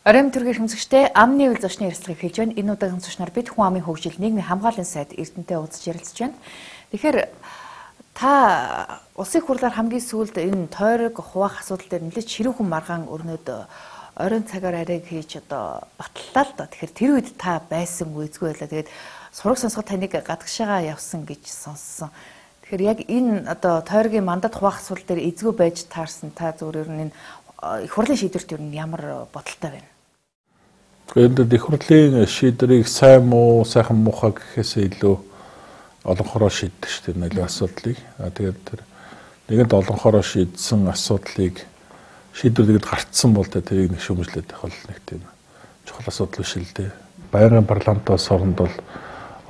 Оройн төргийн хэмжигчтэй амны үйл зочны ярилцлагыг хийж байна. Энэ удаагийн зочноор бид хүн амын хөгжил нийгмийн хамгааллын сайд Эрдэнэтэй уулзч ярилцж байна. Тэгэхээр та улсын хурлаар хамгийн сүүлд энэ тойрог хуваах асуудал дээр нэлээд ширүүхэн маргаан өрнөд оройн цагаар арайг хийж батллаа л да. Тэгэхээр тэр үед та байсан үгүй байлаа. Тэгээд сураг сонсоход таныг гадагшаага явсан гэж сонссон. Тэгэхээр яг энэ тойрогийн мандат хуваах асуудал дээр эзгүй байж таарсан та зүгээр энэ их хурлын шийдвэрт юу ямар бодолтой байна? Тэгээд их хурлын шийдвэрийг сайн муу сайхан муухай гэхээсээ илүү олонхороо шийддэг шүү дээ нэлээд асуудлыг. Тэгээд тэр нэгэнт олонхороо шийдсэн асуудлыг шийдвэрлэхэд гарцсан бол тэрийг нэг шүүмжлээд байх бол нэг тийм чухал асуудал биш л дээ. Байнгын парламентоос оронд бол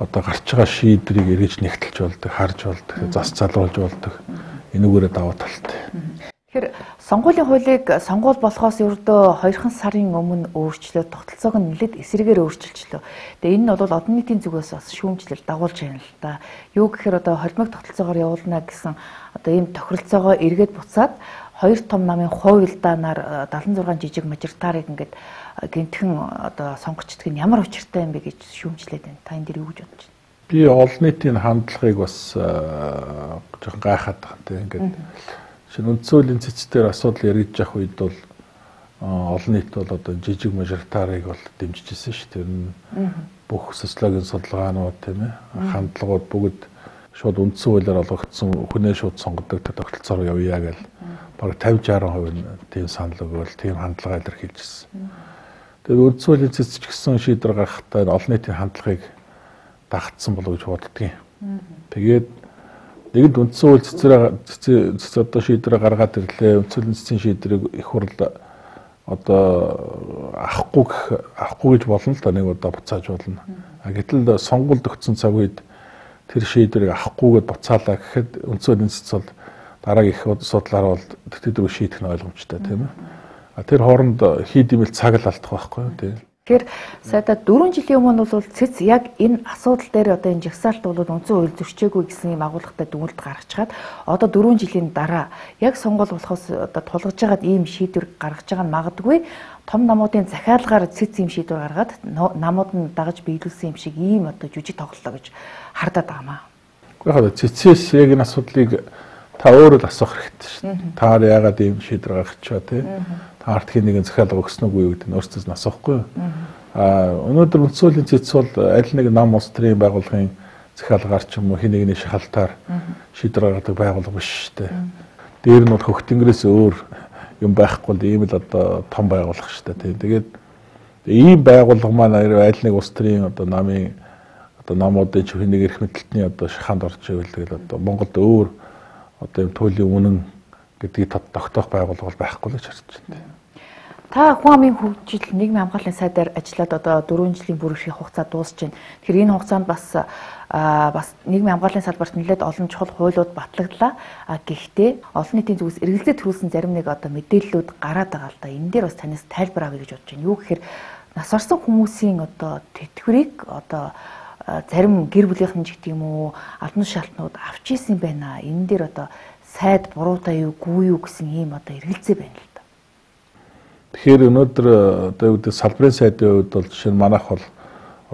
гарч байгаа шийдвэрийг эргэж нэгтэлж болдог, харж болдог, зас залруулж болдог. Энүүгээрээ даваа талтай. Тэгэхээр сонгуулийн хуулийг сонгуул болохоос ердөө 2 сарын өмнө өөрчлөөд тогтолцоог нь нэлээд эсрэгээр өөрчилчлөө. Тэгээ энэ нь бол одон нийтийн зүгээс бас шүүмжлэл дагуулж байна л да. Юу гэхээр холимог тогтолцоогоор явуулна гэсэн ийм тохиролцоогоо эргээд буцаад 2 том намын хуулиудаар 76 жижиг мажоритарыг ингээд гинтхэн сонгогчдыг нь ямар учиртай юм бэ гэж шүүмжлээд байна. Та энэ дээр юу гэж бодож байна? Би олон нийтийн хандлагыг бас жоохон гайхаад байгаа тийм ингээд үндсэн хуулийн цэцээр асуудал яригдж явах үед бол олон нийт бол жижиг мажоритарыг бол дэмжиж ирсэн шүү дээ. Бүх социологийн судалгаанууд тийм ээ хандлагууд бүгд шууд үндсэн хуулиар олгогдсон хүнээ шууд сонгодог тогтолцоор явъя гэж бараг 50-60% тийм санал өгөөл тийм хандлага илэрхийлжсэн. Тэгээд үндсэн хуулийн цэц ч гэсэн шийдвэр гаргахтаа олон нийтийн хандлагыг дагцсан болов гэж боддгийн. Тэгээд нэгэнт үндсэн хууль цэцэр шийдвэрээ гаргаад ирлээ. Үндсэн хуулийн цэцэн шийдвэрийг их хурл авахгүй гэж болно л да нэг удаа буцааж болно. Гэтэл сонгуульд өгсөн цаг үед тэр шийдвэрийг авахгүйгээд буцаалаа гэхэд үндсэн хуулийн цэц бол дараагийн их судлаар бол тэтгэл шийдэх нь ойлгомжтой тийм ээ. Тэр хооронд хийд имэл цаг л алдах байхгүй тийм. Тэгэхээр сайдаа 4 жилийн өмнө бол цэц яг энэ асуудал дээр энэ жагсаалт бол үндсэн хууль зөрчөөгүй гэсэн юм агуулгатай дүгнэлт гаргачаад одоо 4 жилийн дараа яг сонгуул болохоос тулгаж байгаад ийм шийдвэр гаргаж байгаа нь магадгүй том намуудын захиалгаар цэц ийм шийдвэр гаргаад намууд нь дагаж биелүүлсэн юм шиг ийм жүжиг тоглолоо гэж хардаад байгаамаа. Гэхдээ цэцээс яг энэ асуудлыг та өөрөө л асуух хэрэгтэй шин. Та яагаад ийм шийдвэр гаргачаа тийм Артхийн нэгэн захиалга өгсөн үгүй гэдэг нь өөрсдөөс нь асуухгүй. Өнөөдөр үндсэн хуулийн цэц бол аль нэг нам улс төрийн байгууллагын захиалгаар ч юм уу хин нэгний шахалтаар шийдвэр гаргадаг байгууллага биш шүү дээ. Дээр нь бол хөх тэнгэрээс өөр юм байхгүй л ийм л том байгууллага шүү дээ. Тэгээд ийм байгууллага маань аль нэг улс төрийн намын намуудын ч хин нэг эрх мэдэлтний шахаанд орж ивэл тэгэл Монголд өөр ийм туйлын үнэн гэдгийг тогтоох байгууллага бол байхгүй л гэж харж байна. Та хүн амын хөгжил нийгмийн хамгааллын сайдаар ажиллаад 4 жилийн бүр их хугацаа дуусч байна. Тэгэхээр энэ хугацаанд бас нийгмийн хамгааллын салбарт нэлээд олон чухал хуулиуд батлагдлаа. Гэхдээ олон нийтийн зүгээс эргэлзээ төрүүлсэн зарим нэг мэдээллүүд гараад байгаа л да. Энэ дээр бас танаас тайлбар авъя гэж бодож байна. Юу гэхээр нас барсан хүмүүсийн тэтгэврийг зарим гэр бүлийнхэн ч гэдэг юм уу албан шалтнууд авч ийсэн байна. Энэ дээр сайд буруутай юу гүй юу гэсэн ийм эргэлзээ байна л да. Тэгэхээр өнөөдөр салбарын сайдын хувьд бол жишээ нь манайх бол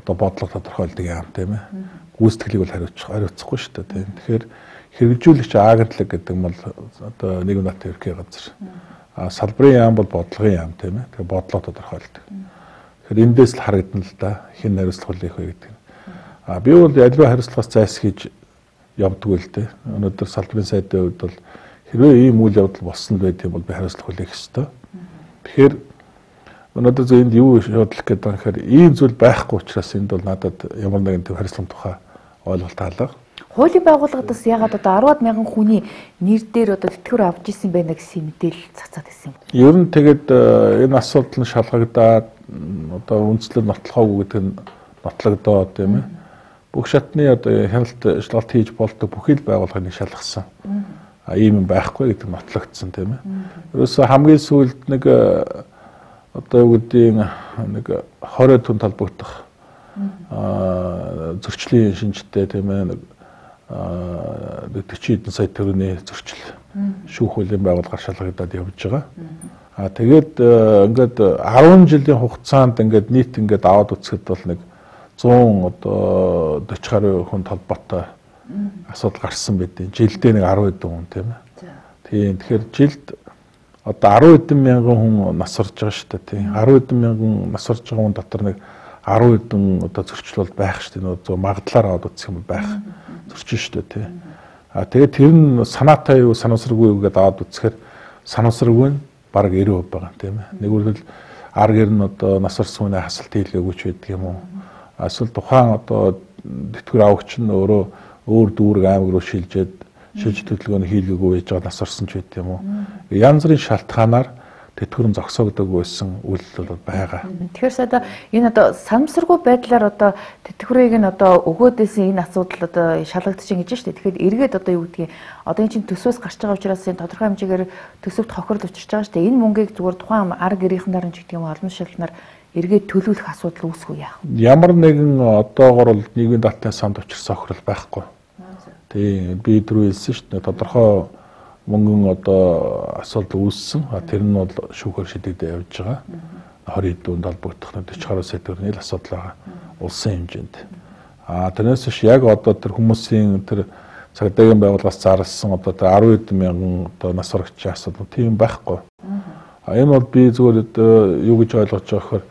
бодлого тодорхойлдог юм тийм ээ. Гүйцэтгэлийг бол хариуцахгүй шүү дээ тийм. Тэгэхээр хэрэгжүүлэгч агентлаг гэдэг нь бол нийгэм даатгын ерхий газар. Салбарын яам бол бодлогын яам тийм ээ. Тэгэхээр бодлого тодорхойлдог. Тэгэхээр эндээс л харагдана л да. Хэн хариуцлах үлээх вэ гэдэг. Би бол аливаа хариуцлагаас зайлсхийж явдгүй л дээ. Өнөөдөр салбарын сайдын хувьд бол хэрвээ ийм үйл явдал болсон байх юм бол би хариуцлага хүлээх ёстой. Тэгэхээр өнөөдөр энд юу шийдлэх гэдэг юм гэхээр ийм зүйл байхгүй учраас энд бол надад ямар нэгэн төв хариуцлага тухай ойлголт хаалга. Хуулийн байгууллагаас ягаад 10-аад мянган хүний нэр дээр тэтгэвэр авч ирсэн байна гэсэн мэдээлэл цацаад ирсэн юм. Ер нь тэгээд энэ асуудал нь шалгагдаад үндслэл нотлохоогүй гэдэг нь нотлогдоод тийм ээ. Бүх шатны хяналт шалгалт хийж болдог бүхий л байгууллагыг шалгасан. Ийм юм байхгүй гэдэг нотлогдсон тийм ээ. Ерөөсө хамгийн сүүлд нэг юу гэдэг нэг 20 түн талбагдах зөрчлийн шинжтэй тийм ээ нэг 40 хэдэн сая төгрөгийн зөрчил шүүх хуулийн байгууллагаар шалгагдаад явж байгаа. Тэгээд ингээд 10 жилийн хугацаанд ингээд нийт ингээд аваад үзэхэд бол нэг 100 одоо 40 гаруй хүн толботой асуудал гарсан байдیں۔ Жилдээ нэг 10 хэдэн хүн тийм ээ. Тийм. Тэгэхээр жилд одоо 10 хэдэн мянган хүн нас орж байгаа шүү дээ тийм. 10 хэдэн мянган нас орж байгаа хүн дотор нэг 10 хэдэн одоо зөрчил бол байх шүү дээ. Нөгөө магадлаар аваад үзэх юм бол байх зөрчин шүү дээ тийм. Тэгээд тэр нь санаатай юу санамсаргүй юу гэдээ аваад үзэхээр санамсаргүй нь бараг 90% байгаа тийм ээ. Нэгүрэл ар гэр нь одоо нас орсон хүний хасалт хийлгээгүй ч байдаг юм уу. Эсвэл тухайн одоо тэтгэр авагч нь өөрөө өөр дүүрэг аймаг руу шилжиж төлөвлөгөөний хийлгээгүй байж байгаа нас орсон ч байт юм уу. Янз бүрийн шалтгаанаар тэтгэврэн зогсоогддог байсан үйлдэл бол байгаа. Тэгэхээр одоо энэ одоо санамсаргүй байдлаар одоо тэтгэврийг нь одоо өгөөдөөсөн энэ асуудал одоо шалгагдчихээн гэж байна шүү дээ. Тэгэхээр эргээд одоо юу гэдгийг одоо энэ чинь төсвөөс гарч байгаа учраас энэ тодорхой хэмжээгээр төсөвт хохирол учирч байгаа шүү дээ. Энэ мөнгийг зүгээр тухайн ар гэрийнхнаар нь ч гэдэг юм олон шалтгаанаар эргээд төлөвлөх асуудал үүсэхгүй яах вэ? Ямар нэгэн одоогор бол нийгмийн даатны санд учирсан хохирол байхгүй. Тийм би түрүү хэлсэн шүү дээ. Тодорхой мөнгөн одоо асуудал үүссэн. Тэр нь бол шүүхээр шийдэгдэж явж байгаа. 20 хэдэн холбогдох 40 гаруй сая төгрөгийн асуудал байгаа. Улсын хэмжээнд. Тэрнээс биш яг одоо тэр хүмүүсийн тэр цагдаагийн байгууллагаас зарласан одоо тэр 10 хэдэн мянган одоо нас орогчийн асуудал тийм байхгүй. Энэ бол би зүгээр юу гэж ойлгож байгаа гэхээр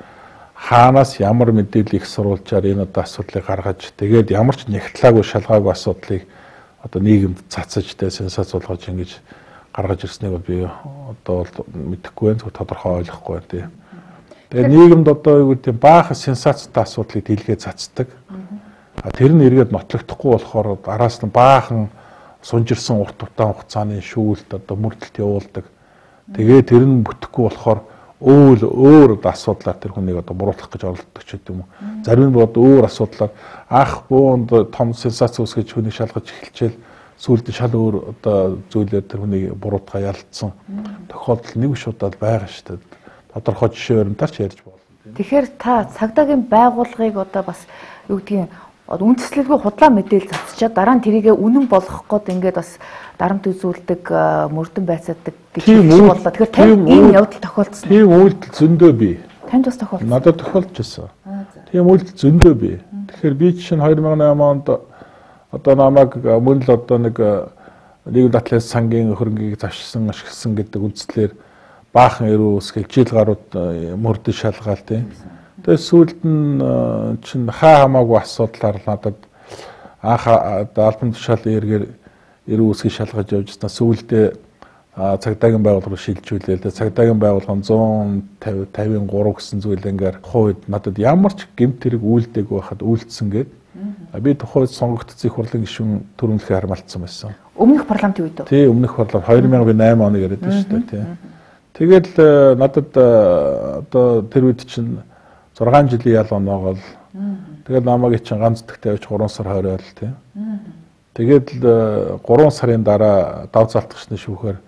хаанаас ямар мэдээлэл их сурвалжаар энэ одоо асуудлыг гаргаж тэгээд ямар ч нягтлаагүй шалгаагүй асуудлыг одоо нийгэмд цацаж тэ сенсац болгож ингэж гаргаж ирснийг бол би одоо мэдэхгүй байх тодорхой ойлгохгүй байна тий. Тэгээд нийгэмд одоо юу гэдэг баахан сенсацтай асуудлыг дэлгээ цацдаг. Тэр нь эргээд нотлогдохгүй болохоор араас нь баахан сунжирсан урт удаан хугацааны шүүлт одоо мөрдөлт явуулдаг. Тэгээд тэр нь бүтэхгүй болохоор өөр асуудлаар тэр хүнийг одоо буруутгах гэж оролддог ч гэдэг юм уу. Зарим нь бод өөр асуудлаар ах буунд том сенсац үүсгэж хүнийг шалгаж эхэлчихэл сүүлд нь шал өөр одоо зүйлээр тэр хүнийг буруутгаа ялцсан тохиолдол нэг шуудаад байгаа шүү дээ. Тодорхой жишээ баримтаар ч ярьж болно. Тэгэхээр та цагдаагийн байгууллагыг одоо бас юу гэдгийг үндэслэлгүй худлаа мэдээлэл цацчаад дараа нь тэрийгэ үнэн болгох гээд ингээд бас дарамт үзүүлдэг мөрдөн байцаадаг гэж хэлж боллоо. Тэгэхээр тань ийм явдал тохиолдсон. Тийм үйлдэл зөндөө бий. Танд бас тохиолдсон. Надад тохиолдчихсон. Тийм үйлдэл зөндөө бий. Тэгэхээр би чинь 2008 онд одоо намайг мөн л одоо нэг нийгэм датлын сангийн хөрөнгийг завшсан ашигласан гэдэг үндслээр баахан эрүү үсгэл жил гарууд мөрдөн шалгаал тийм. Тэгээд сүүлд нь чинь хаа хамаагүй асуудлаар надад анх албан тушаал эргээр эрүү үсгийг шалгаж явжснаа сүүлдээ цагдаагийн байгууллага руу шилжүүлээ. Цагдаагийн байгууллага 153 гэсэн зүйл ингээд хувьд надад ямар ч гэмт хэрэг үйлдэггүй байхад үйлдсэн гээд би тухайд сонгогдсон их хурлын гишүүн төрөмлөхөөр хармалцсан байсан. Өмнөх парламентын үед үү? Тий, өмнөх парламент 2008 оныг яриад байна шүү дээ, тий. Тэгэл надад одоо тэр үед чинь 6 жилийн ял оноогоол тэгэл намайг чинь ганц дэгтэй авч 3 сар хойроол тий. Тэгээд 3 сарын дараа дав залтгчны шүүхээр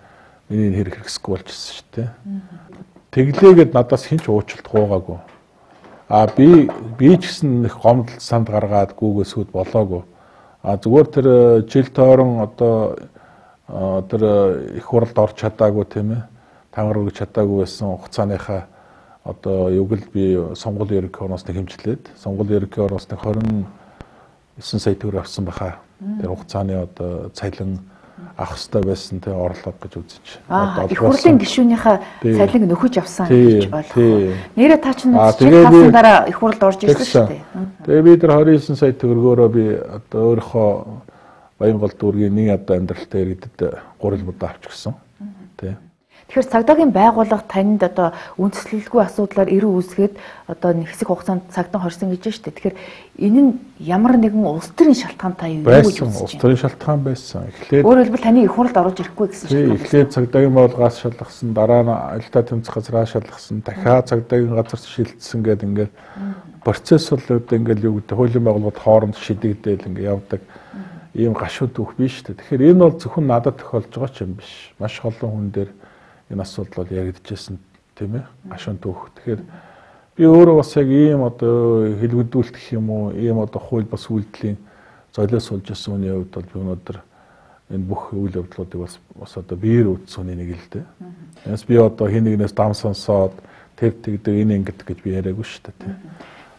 миний хэрэг хэрэгсэхгүй болчихсон шүү дээ. Тэглээгээд надаас хинч уучлалт гуугаагүй. Би ч гэсэн их гомдол санд гаргаад гүүгөөсүүд болоогүй. Зүгээр тэр жил тойрон одоо тэр их хурлд орж чадаагүй тийм ээ. Тангар өгч чадаагүй байсан хугацааныхаа одоо юг л би сонгуулийн ерөнхий орносны хэмжлээд сонгуулийн ерөнхий орносны 29 сая төгрөг авсан баха. Тэр хугацааны одоо цалин авах хэрэгтэй байсан тэ орлого гэж үзэж. Их хурлын гишүүнийхээ цалинг нөхөж авсан гэж ойлгоо. Нэрээ та чинь чиг тавсан дараа их хурлд орж ирсэн шүү дээ. Тэгээ би тэр 29 сая төгрөгөөрөө би одоо өөрийнхөө Баянгол дүүргийн нэг одоо амьдралтай иргэдэд 3 удаа авчихсан. Тэ. Тэгэхээр цагдаагийн байгууллага танд одоо үндэслэлгүй асуудлаар эрүү үүсгээд одоо нэг хэсэг хугацаанд цагдаа хорсон гэж байна шүү дээ. Тэгэхээр энэ нь ямар нэгэн улс төрийн шалтгаантай юу гэж үзэж байна? Улс төрийн шалтгаан байсан. Эхлээд өөрөөр хэлбэл таны их хурлд орж ирэхгүй гэсэн шалтгаан. Эхлээд цагдаагийн байгууллагаас шалгасан, дараа нь аялал тэмцэх газраас шалгасан, дахиад цагдаагийн газар шилжсэн гэдэг ингээд процесс бол ингээд юу гэдэг хуулийн байгууллагууд хооронд шидэгдээл ингээд явдаг ийм гашууд үг биш шүү дээ. Тэгэхээр энэ бол зөвхөн надад тохиолж байгаа ч юм биш. Маш олон хүн дээр энэ асуудал бол яригдчихсэн тийм ээ гашуун түүх. Тэгэхээр би өөрөө бас яг ийм одоо хэлбэдүүлэх юм уу ийм одоо хууль бас үйлдэлийн золиос болж ирсэн үний хувьд бол би өнөөдөр энэ бүх үйл явдлуудыг бас одоо биеэр үзсэн хүний нэг л дээ. Яс би одоо хин нэгнээс дам сонсоод тэр тэгдэг энэ ингэдэг гэж би яриаггүй шүү дээ.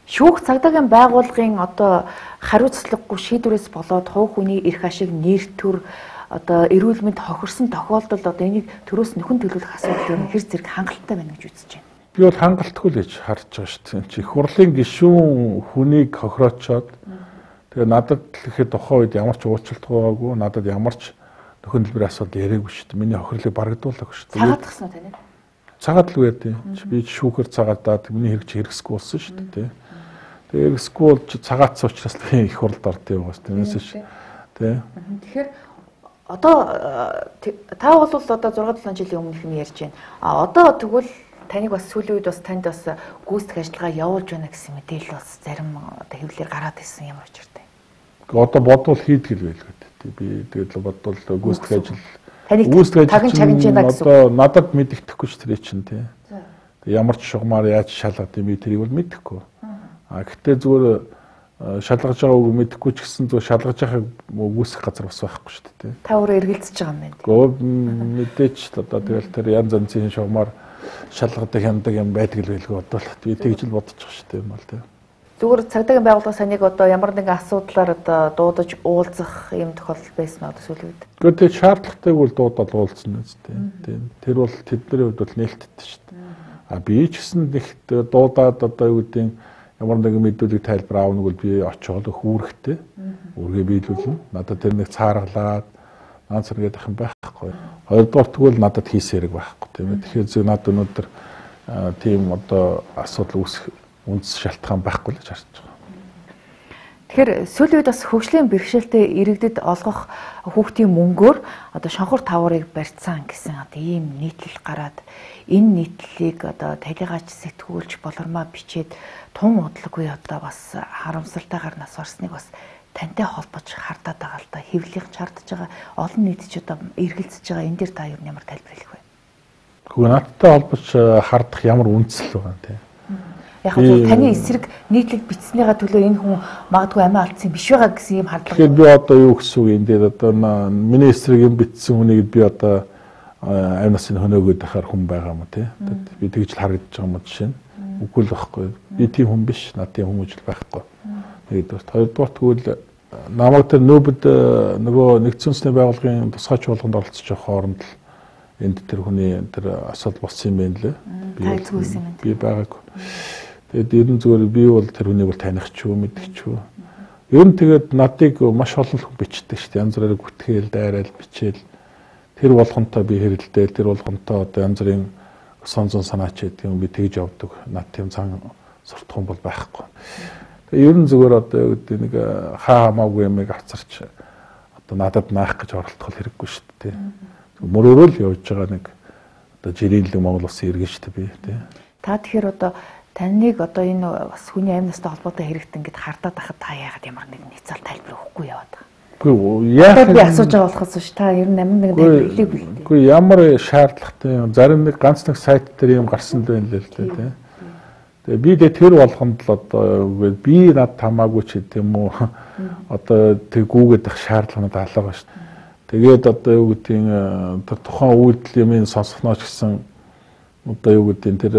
Шүүх цагдаагийн байгууллагын одоо хариуцлагагүй шийдвэрээс болоод хувь хүний эрх ашиг нэр төр одоо эрүүл мэнд хохирсон тохиолдолд одоо энийг төрөөс нөхөн төлөвлөх асуудал хэр зэрэг хангалттай байна гэж үзэж байна. Би бол хангалтгүй л гэж харж байгаа шүү дээ. Чи их хурлын гишүүн хүнийг хохироочоод тэгээ надад ихэд тухайн үед ямар ч уучлалт байгаагүй, надад ямар ч нөхөн төлбөрийн асуудал яриаггүй шүү дээ. Миний хохирлыг барагдуулаагүй шүү дээ. Цагаат гисэн үү тань? Цагаат л үгүй. Би шүүхэр цагаатаад миний хэрэг чи хэрэгсгүй болсон шүү дээ. Тэгээ хэрэгсгүй бол цагаатсан учраас би их хурлд ордё байгаас тэрнээс шүү. Тэгэхээр одоо та бол одоо 6-7 жилийн өмнөх нь ярьж байна. Одоо тэгвэл таныг бас сүүлийн үед бас танд бас гүйцэтгэх ажиллагаа явуулж байна гэсэн мэдээлэл бас зарим одоо хэвлэлээр гараад ирсэн ямар учиртай. Одоо бодвол хийдэг л байлгүй. Би тэгээд л бодвол гүйцэтгэх ажил одоо надад мэддэхгүй ч тэр чинь тий. Ямар ч шугамар яаж шалгад юм би тэрийг бол мэдэхгүй. Гэхдээ зүгээр шалгаж байгаа үг мэдэхгүй ч гэсэн зүгээр шалгаж байхыг үүсэх газар бас байхгүй шүү дээ. Та өөрөө эргэлзэж байгаа юм байна. Гэхдээ мэдээч одоо тэгэл тэр янз янзын шугамар шалгадаг хямдаг юм байдаг л байлгүй бодвол би тэгж л бодож байгаа шүү дээ юм бол тий. Зүгээр цагдаагийн байгууллага санийг одоо ямар нэгэн асуудлаар одоо дуудаж уулзах юм тохиолдол байсан одоо сүүлийн үед. Гэхдээ тэр шаардлагатайг бол дуудаад уулзсан нь тий. Тэр бол тэдний хувьд бол нээлттэй шүү дээ. Би ч гэсэн нэгт дуудаад одоо юу гэдэг ямар нэгэн мэдүүлэг тайлбар аавна бол би очиод хүүрэхтэй. Үргээ биелүүлнэ. Надад тэр нэг цааргалаад ганц зэрэг ах юм байхгүй. Хоёрдугаар тэгвэл надад хийсэн хэрэг байхгүй тийм ээ. Тэгэхээр зөв надад өнөөдөр тийм одоо асуудал үүсэх үндэс шалтгаан байхгүй л гэж харж байгаа. Тэгэхээр сүүлийн үед бас хөгжлийн бэрхшээлтэй иргэдэд олгох хүүхдийн мөнгөөр одоо шонхор таврыг барьцсан гэсэн одоо ийм нийтлэл гараад энэ нийтлэлийг одоо талигаач сэтгүүлж болормоо бичээд тун удалгүй одоо бас харамсалтайгаар нас орсныг бас тантай холбож хардаад байгаа л да. Хэвлэлийнх чардж байгаа олон нийт ч одоо эргэлзэж байгаа энэ дээр та юу ямар тайлбар хэлэх вэ? Гэхдээ надтай холбож хардах ямар үндэслэл байгаа юм те. Яг нь таны эсрэг нийтлэг бичснийгаа төлөө энэ хүн магадгүй амиа алдсан биш байгаа гэсэн юм хардлага. Тэгэхээр би одоо юу гэсэн үг юм дээр одоо миний эсрэг юм бичсэн хүнийг би одоо амь насны хөнөөгөөд байхаар хүн байгаа юм тий. Би тэгж л харагдаж байгаа юм жишээ нь. Үгүй л байхгүй. Би тийм хүн биш. Над тийм хүмүүс л байхгүй. Нэгдүгээр. Хоёрдугаар тэгвэл намайг тэр нөөбөд нөгөө нэгдсэн үндэсний байгууллагын тусгай чуулганд оролцож байгаа хооронд л энд тэр хүний тэр асуудал болсон юм байна лээ. Би байгаагүй. Тэгээд ер нь зүгээр би бол тэр хүнийг бол таних ч юу мэдэх ч юу. Ер нь тэгээд надыг маш олон хүн бичдэг шүү дээ. Янз бүрээр гүтгээл, дайраал, бичээл. Тэр болгонтой би хэрэлдээл, тэр болгонтой одоо янз бүрийн сонзон санаач гэдэг юм би тэгж явдаг. Над тийм цан суртахуун бол байхгүй. Тэгээд ер нь зүгээр одоо юу гэдэг нэг хаа хамаагүй юмыг авцарч одоо надад наах гэж оролдох хэрэггүй шүү дээ. Мөрөөрөө л явж байгаа нэг одоо жирийн Монгол улсын иргэн шүү дээ би тий. Та тэгэхээр одоо таныг одоо энэ бас хүний амь настай холбоотой хэрэгт ингэж хардаад байхад та яагаад ямар нэгэн хэцэл тайлбар өгөхгүй яваад байгаа. Үгүй яах би асууж байгаа болохоос ш та ер нь амин нэг тайлбар хэлээгүй л дээ. Үгүй ямар шаардлагатай юм. Зарим нэг ганц нэг сайт дээр юм гарсан байх л дээ тий. Тэгээ би тэр болгонд л одоо би над тамаагүй ч гэдэг юм уу одоо тэг гүгээд ах шаардлаганад алгаа ш. Тэгээд одоо юу гэдгийг тэр тухайн үйлдэл юмыг сонсохнооч гэсэн одоо юу гэдгийг тэр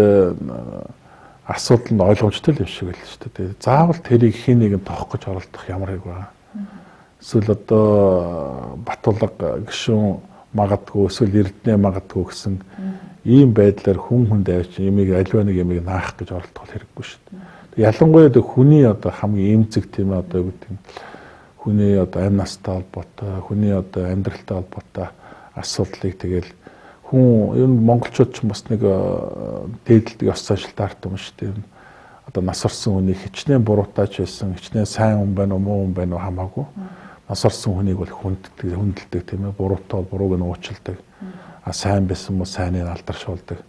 асуудал нь ойлгомжтой л юм шиг л шүү дээ. Заавал тэрийг хин нэгэн тоох гэж оролдох ямар хэрэг байгаа. Эсвэл одоо Батулга гишүүн магадгүй эсвэл Эрдэнэ магадгүй гэсэн ийм байдлаар хүн хүнд авч ямиг аливаа нэг ямиг наах гэж оролдох хэрэггүй шүү дээ. Ялангуяа хүний одоо хамгийн эмзэг тийм ээ одоо юу гэдэг хүний одоо амь настай холбоотой, хүний одоо амьдралтай холбоотой асуудлыг тэгэл хүн ер нь монголчууд ч бас нэг дээдэлдэг ёс заншилтай арт юм шүү дээ. Одоо нас орсон хүнийг хичнээн буруутаач байсан, хичнээн сайн хүн байна уу, муу хүн байна уу хамаагүй. Нас орсон хүнийг бол хүндэлдэг тийм ээ. Буруутай бол бурууг нь уучилдаг. Сайн байсан мó сайныг алдаршуулдаг.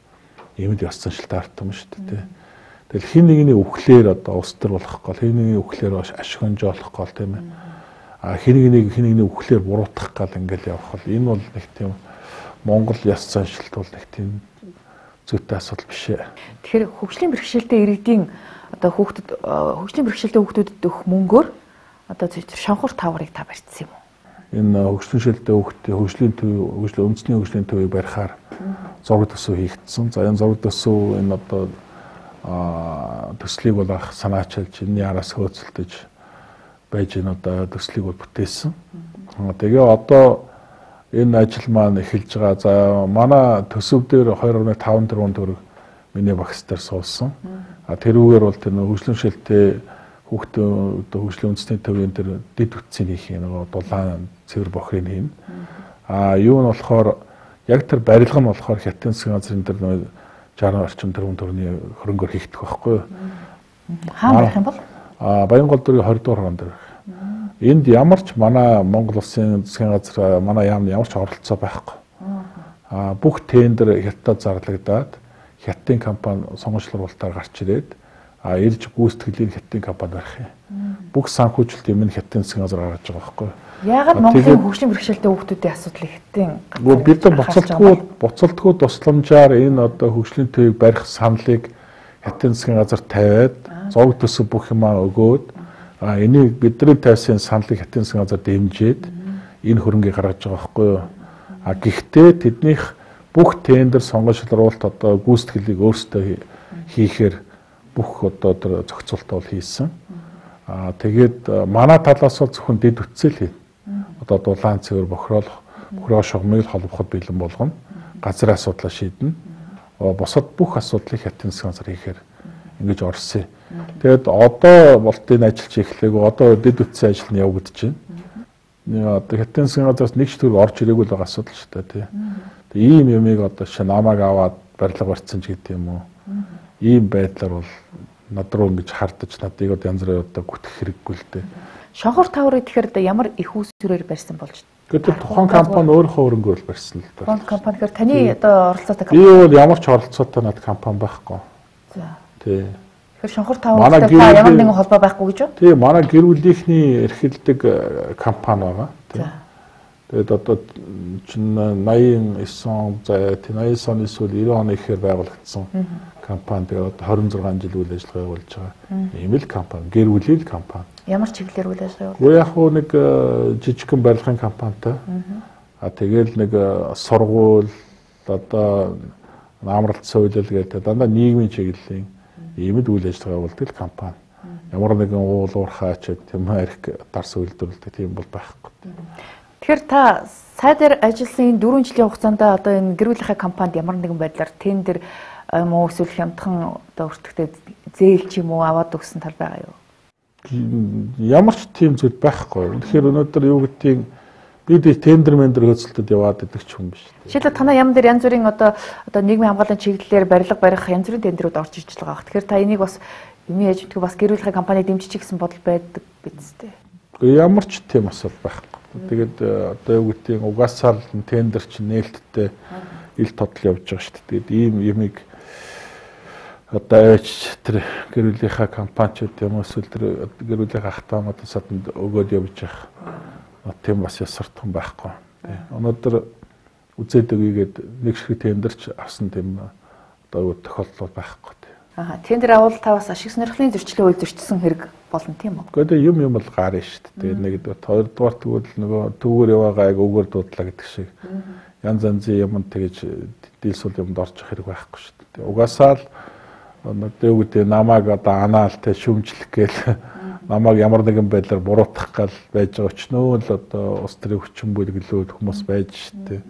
Ийм л ёс заншилтай арт юм шүү дээ. Тэгэл хин нэгний өвхлээр одоо ус төр болох гол, хин нэгний өвхлээр ашигнжоолох гол тийм ээ. Хин нэгний өвхлээр буруутгах гал ингээл явах бол энэ бол нэг тийм Монгол ёс заншилт бол нэг тийм зүйтэй асуудал биш ээ. Тэгэхээр хөгжлийн бэрхшээлтэй иргэдийн одоо хөгжлийн бэрхшээлтэй хүүхдүүдэд өгөх мөнгөөр одоо шонхор таврыг та барьсан юм уу? энэ хөгжлийн шилдэг хүүхдийн хөгжлийн төв, үндэсний хөгжлийн төвийг барихаар зураг төсөв хийгдсэн. За энэ зураг төсөв энэ одоо төслийг бол анх санаачилж энэний араас хөөцөлдөж байж энэ одоо төслийг бол бүтээсэн. Тэгээ одоо энэ ажил маань эхэлж байгаа. За манай төсөв дээр 2.5 тэрбум төгрөг миний багц дээр суулсан. Тэрүүгээр бол тэр хөгжлийн шилтэй хүүхдийн хөгжлийн үндэсний төвийн тэр дэд үтцийг хийх нэг дулаан цэвэр бохрыг хийн. Юу нь болохоор яг тэр барилга нь болохоор Хятадын засгийн газрын тэр 60 орчим тэрбум төгрөгийн хөрөнгөөр хийгдэх байхгүй. Хаан байх юм бол? Баянгол дүүргийн 20 дугаар хаан дээр. Энд ямар ч манай Монгол улсын засгийн газар манай яамны ямар ч оролцоо байхгүй. Бүх тендер Хятадд зарлагдаад Хятадын компани сонгогчлуулалтаар гарч ирээд ирж гүйцэтгэлийг Хятадын компани барих юм. Бүх санхүүжилт юм нь Хятадын засгийн газар гаргаж байгаа байхгүй. Яагаад Монголын хөгжлийн бэрхшээлтэй хүүхдүүдийн асуудлыг Хятадын бид нар буцалтгүй тусламжаар энэ одоо хөгжлийн төвийг барих саналыг Хятадын засгийн газар тавиад зураг төсөв бүх юмаа өгөөд энийг бидний тавьсан саналыг Хятадын засгийн газар дэмжиж энэ хөрөнгийг гаргаж байгаа байхгүй юу. Гэхдээ тэднийх бүх тендер сонгогчлуулалт одоо гүйцэтгэлийг өөрсдөө хийхээр бүх одоо тэр зохицуултаа бол хийсэн. Тэгээд манай талаас бол зөвхөн дэд үтсэл хийнэ. Одоо дулаан цэвэр бохируулах, бохироо шугамыг холбоход бэлэн болгоно. Газрын асуудлаа шийднэ. Бусад бүх асуудлыг Хятадын засгийн газар хийхээр ингэж орсон. Тэгээд одоо болтын ажиллаж эхлэв. Одоо дэд үтсийн ажил нь явагдаж байна. Одоо Хятадын засгийн газраас нэг ч төр орж ирээгүй л байгаа асуудал шүү дээ тий. Ийм юмыг одоо шинэ намайг аваад барилга барьсан ч гэдэг юм уу. Ийм байдлаар бол над руу ингэж хардаж надыг одоо янз бүрээр одоо гүтэх хэрэггүй л дээ. Шонхор таврыг тэгэхээр ямар их үүсвэрээр барьсан болж байна? Гэтэл тухайн компани өөрийнхөө хөрөнгөөр л барьсан л дээ. Тухайн компани тэгэхээр таны одоо оролцоотой компани. Би бол ямар ч оролцоотой над компани байхгүй. За. Тий. Тэгэхээр шонхор тавртай ямар нэгэн холбоо байхгүй гэж үү? Тий, манай гэр бүлийнхний эрхэлдэг компани байгаа. Тий. Тэгээд одоо чинь 89 он за 89 оны сүүл 90 оны ихээр байгуулагдсан компани. Тэгээд 26 жил үйл ажиллагаа явуулж байгаа. Ийм л компани, гэр бүлийн компани. Ямар чиглэлээр үйл ажиллагаа явуулдаг? Яг хөө нэг жижигхэн барилгын компанитай. Тэгэл нэг сургууль одоо амралт соёлол гэдэг дандаа нийгмийн чиглэлийн иймд үйл ажиллагаа явуулдаг компани. Ямар нэгэн уул уурхаач тийм арх дарс үйлдвэрлэдэг тийм бол байхгүй. Тэгэхээр та сайдаар ажилласан 4 жилийн хугацаанд одоо энэ гэр бүлийнхээ компанид ямар нэгэн байдлаар тендер муу эсвэл хямдхан одоо өртөгтэй зээл ч юм уу аваад өгсөн тал байгаа юу? Ямар ч тийм зүйл байхгүй. Тэгэхээр өнөөдөр юу гэдгийг бид тендер мендер хөдөлтөд яваад идэх ч юм биш. Жишээлбэл танаа яам дээр янз бүрийн одоо нийгмийн хамгааллын чиглэлээр барилга барих янз бүрийн тендерүүд орж иж байгаа. Тэгэхээр та энийг бас юмны ээжмтгий бас гэр бүлийнхээ компани дэмжиж гэсэн бодол байдаг биз дээ. Ямар ч тийм асуудал байхгүй. Тэгээд одоо юу гэдгийг угаасаа тендер чинь нээлттэй ил тодл явж байгаа шүү дээ. Тэгээд ийм юмыг одоо тэр гэр бүлийнхаа компаниуд юм эсвэл тэр гэр бүлийнхаа ахтаамуудад саданд өгөөд явж байгаа. Тийм бас ясартхан байхгүй. Өнөөдөр үзээд өгийгээд нэг шиг тендерч авсан тийм одоо тохиолдол байхгүй. Тендер авал та бас ашиг сонирхлын зөрчлийн үйл зөрчсөн хэрэг болно тийм үү? Гэхдээ юм бол гарна шүү дээ. Нэгдүгээр хоёрдугаар тэгвэл нөгөө түүгээр яваагаа өгөр дуудлаа гэдэг шиг янз янзын юмд тэгэж дийлсүүл юмд орчих хэрэг байхгүй шүү дээ. Угаасаа л одоо юу гэдэг намайг одоо анаалтай шүмжлэх гээл намайг ямар нэгэн байдлаар буруутгах гал байж байгаа өчнөө л одоо улс төрийн хүчин бүлэглүүд хүмүүс байж шүү дээ.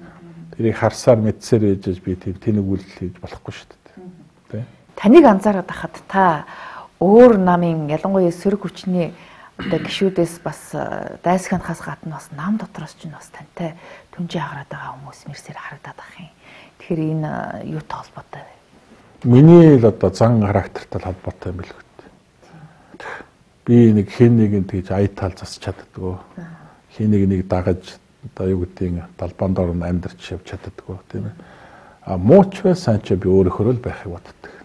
Тэрийг харсаар мэдсээр ээжж би тийм тэнэг үйлдэл хийж болохгүй шүү дээ. Таныг анзаараад байхад та өөр намын ялангуяа сөрөг хүчний одоо гишүүдээс бас дайсханахаас гадна бас нам дотроос ч бас тантай түнжээ хагараад байгаа хүмүүс мэрсээр харагдаад байх юм. Тэгэхээр энэ юутай холбоотой вэ? Миний л одоо зан характертай холбоотой юм билгүй. Би нэг хэн нэгэнд тэгж аятал засч чаддаггүй. Хэн нэг дагаж одоо юу гэдгийг далбаан доор амьдарч явж чаддаггүй тийм ээ. Мууч бай сайн ч би өөрөөхөө л байхыг боддог.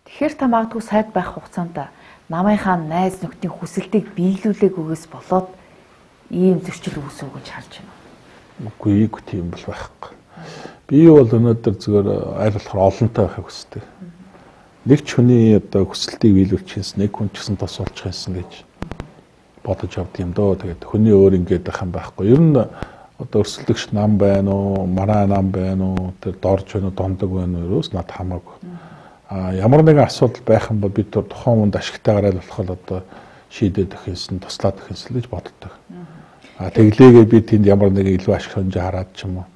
Тэгэхээр та магадгүй сайд байх хугацаанд намынхаа найз нөхдийн хүсэлтийг биелүүлээгүйгээс болоод ийм зөрчил үүсв гэж харж байна. Үгүй тийм бол байхгүй. Би бол өнөөдөр зүгээр аль болохоор олонтой байхыг хүсдэг. Нэг ч хүний одоо хүсэлтийг биелүүлчихсэн, нэг хүн ч гэсэн тос болчих юмсан гэж бодож явдаг юм дөө. Тэгээд хүний өөр ингэж байх юм байхгүй. Ер нь одоо өрсөлдөгч нам байна уу, мараа нам байна уу, тэр дорж байна уу, дондог байна уу, ерөөс над хамаагүй. Ямар нэгэн асуудал байх юм бол бид тухайн хүнд ашигтайгаар аль болох одоо шийдээд өгөхсэн, туслаад өгөхсэн гэж боддог. Тэглээгээ би тэнд ямар нэгэн илүү ашиг хонжоо хараад ч юм уу.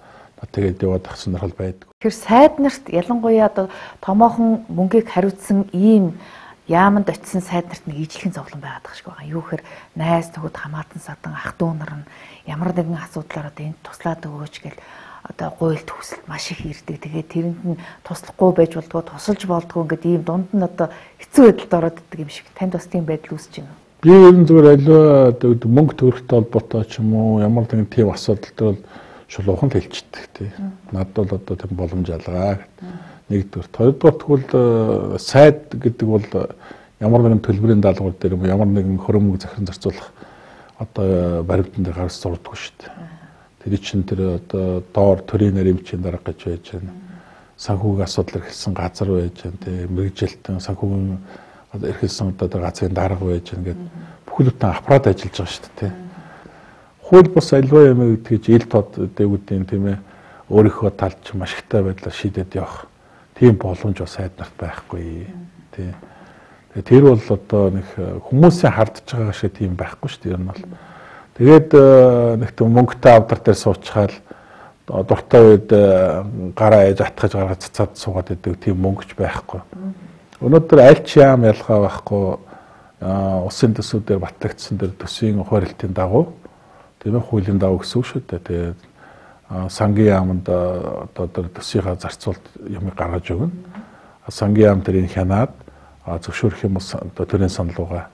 Тэгээд яваад ах сонирхол байдаг. Тэгэхээр сайд нарт ялангуяа одоо томоохон мөнгийг хариуцсан ийм яаманд очисон сайд нарт нэг ижлэхэн зовлон байгаад байгаа шиг байгаа. Юу гэхээр найз нөхөд хамаатан садан ах дүү нар нь ямар нэгэн асуудлаар одоо энд туслаад өгөөч гэл одоо гуйлт хүсэлт маш их ирдэг. Тэгээд тэрэнд нь туслахгүй байж болдгоо тусалж болдгоо ингээд ийм дунд нь одоо хэцүү байдалд ороод иддэг юм шиг. Танд бас тийм байдал үүсэж байна уу? Би ер нь зүгээр аливаа мөнгө төгрөгтэй холбоотой ч юм уу ямар нэгэн тийм асуудал төр шулуухан хэлчихдэг тий. Над бол одоо тийм боломж алгаа гэдэг. Нэгдүгээр. Хоёрдугаар тэгвэл сайд гэдэг бол ямар нэгэн төлбөрийн даалгавар дээр юм ямар нэгэн хөрөмөг захиран зарцуулах одоо баримтан дээр гарч зурдаг шүү дээ. Тэр чинь тэр одоо доор төрийн нарийн дарга гэж байж байна. Санхүүгийн асуудал эрхэлсэн газар байж байна тий. Мэргэжилтэн санхүүгийн эрхэлсэн одоо газрын дарга байж байна гэдэг бүхэлдээ аппарат ажиллаж байгаа шүү дээ тий. Хууль бус альва юм гэдгийг ил тод дээгүүдийн тийм ээ өөрийнхөө талд ч маш ихтэй байдлаар шийдээд явах тийм боломж бас сайд нарт байхгүй тий. Тэр бол одоо нэг хүмүүсийн хардж байгаа шиг тийм байхгүй шүү дээ. Ер нь бол тэгээд нэг тийм мөнгөтэй авдар дээр суучхаал дуртай үед гараа ээж атгаж гаргаж цацаад суугаад идэг тийм мөнгөч байхгүй. Өнөөдөр аль ч яам ялгаа байхгүй усын төсвүүдээр батлагдсан дэр төсвийн хуваарлтын дагуу тийм ээ хуулийн дагуу гэсэн үг шүү дээ. Тэгээд сангийн яамд одоо төсвийнхаа зарцуулт юмыг гаргаж өгнө. Сангийн яам тэрийг хянаад зөвшөөрөх юм бол одоо төрийн саналууга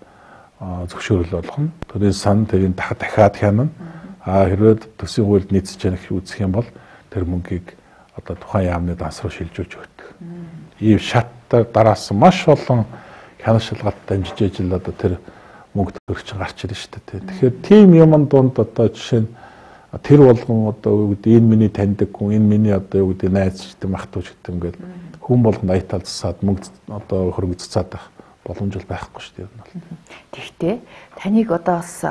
зөвшөөрөл болгоно. Төрийн сан тэрийг дахиад хянана. Хэрвээ төсвийн хуульд нийцэж яах үзэх юм бол тэр мөнгийг одоо тухайн яамны данс руу шилжүүлж өгдөг. Ийм шаттай дараасан маш олон хянах шалгалт дамжиж ижил одоо тэр мөнгө төгрөгч гарч ирнэ шүү дээ. Тэгэхээр тийм юмн дунд одоо жишээ нь тэр болгон одоо юу гэдэг энэ миний таньдаг хүн, энэ миний одоо юу гэдэг найз гэдэг махтууч гэдэг ингээд хүн болгонд аятал засаад мөнгө одоо хөрөнгө цацаад байх боломж байхгүй шүү дээ. Тэгтээ таныг одоо бас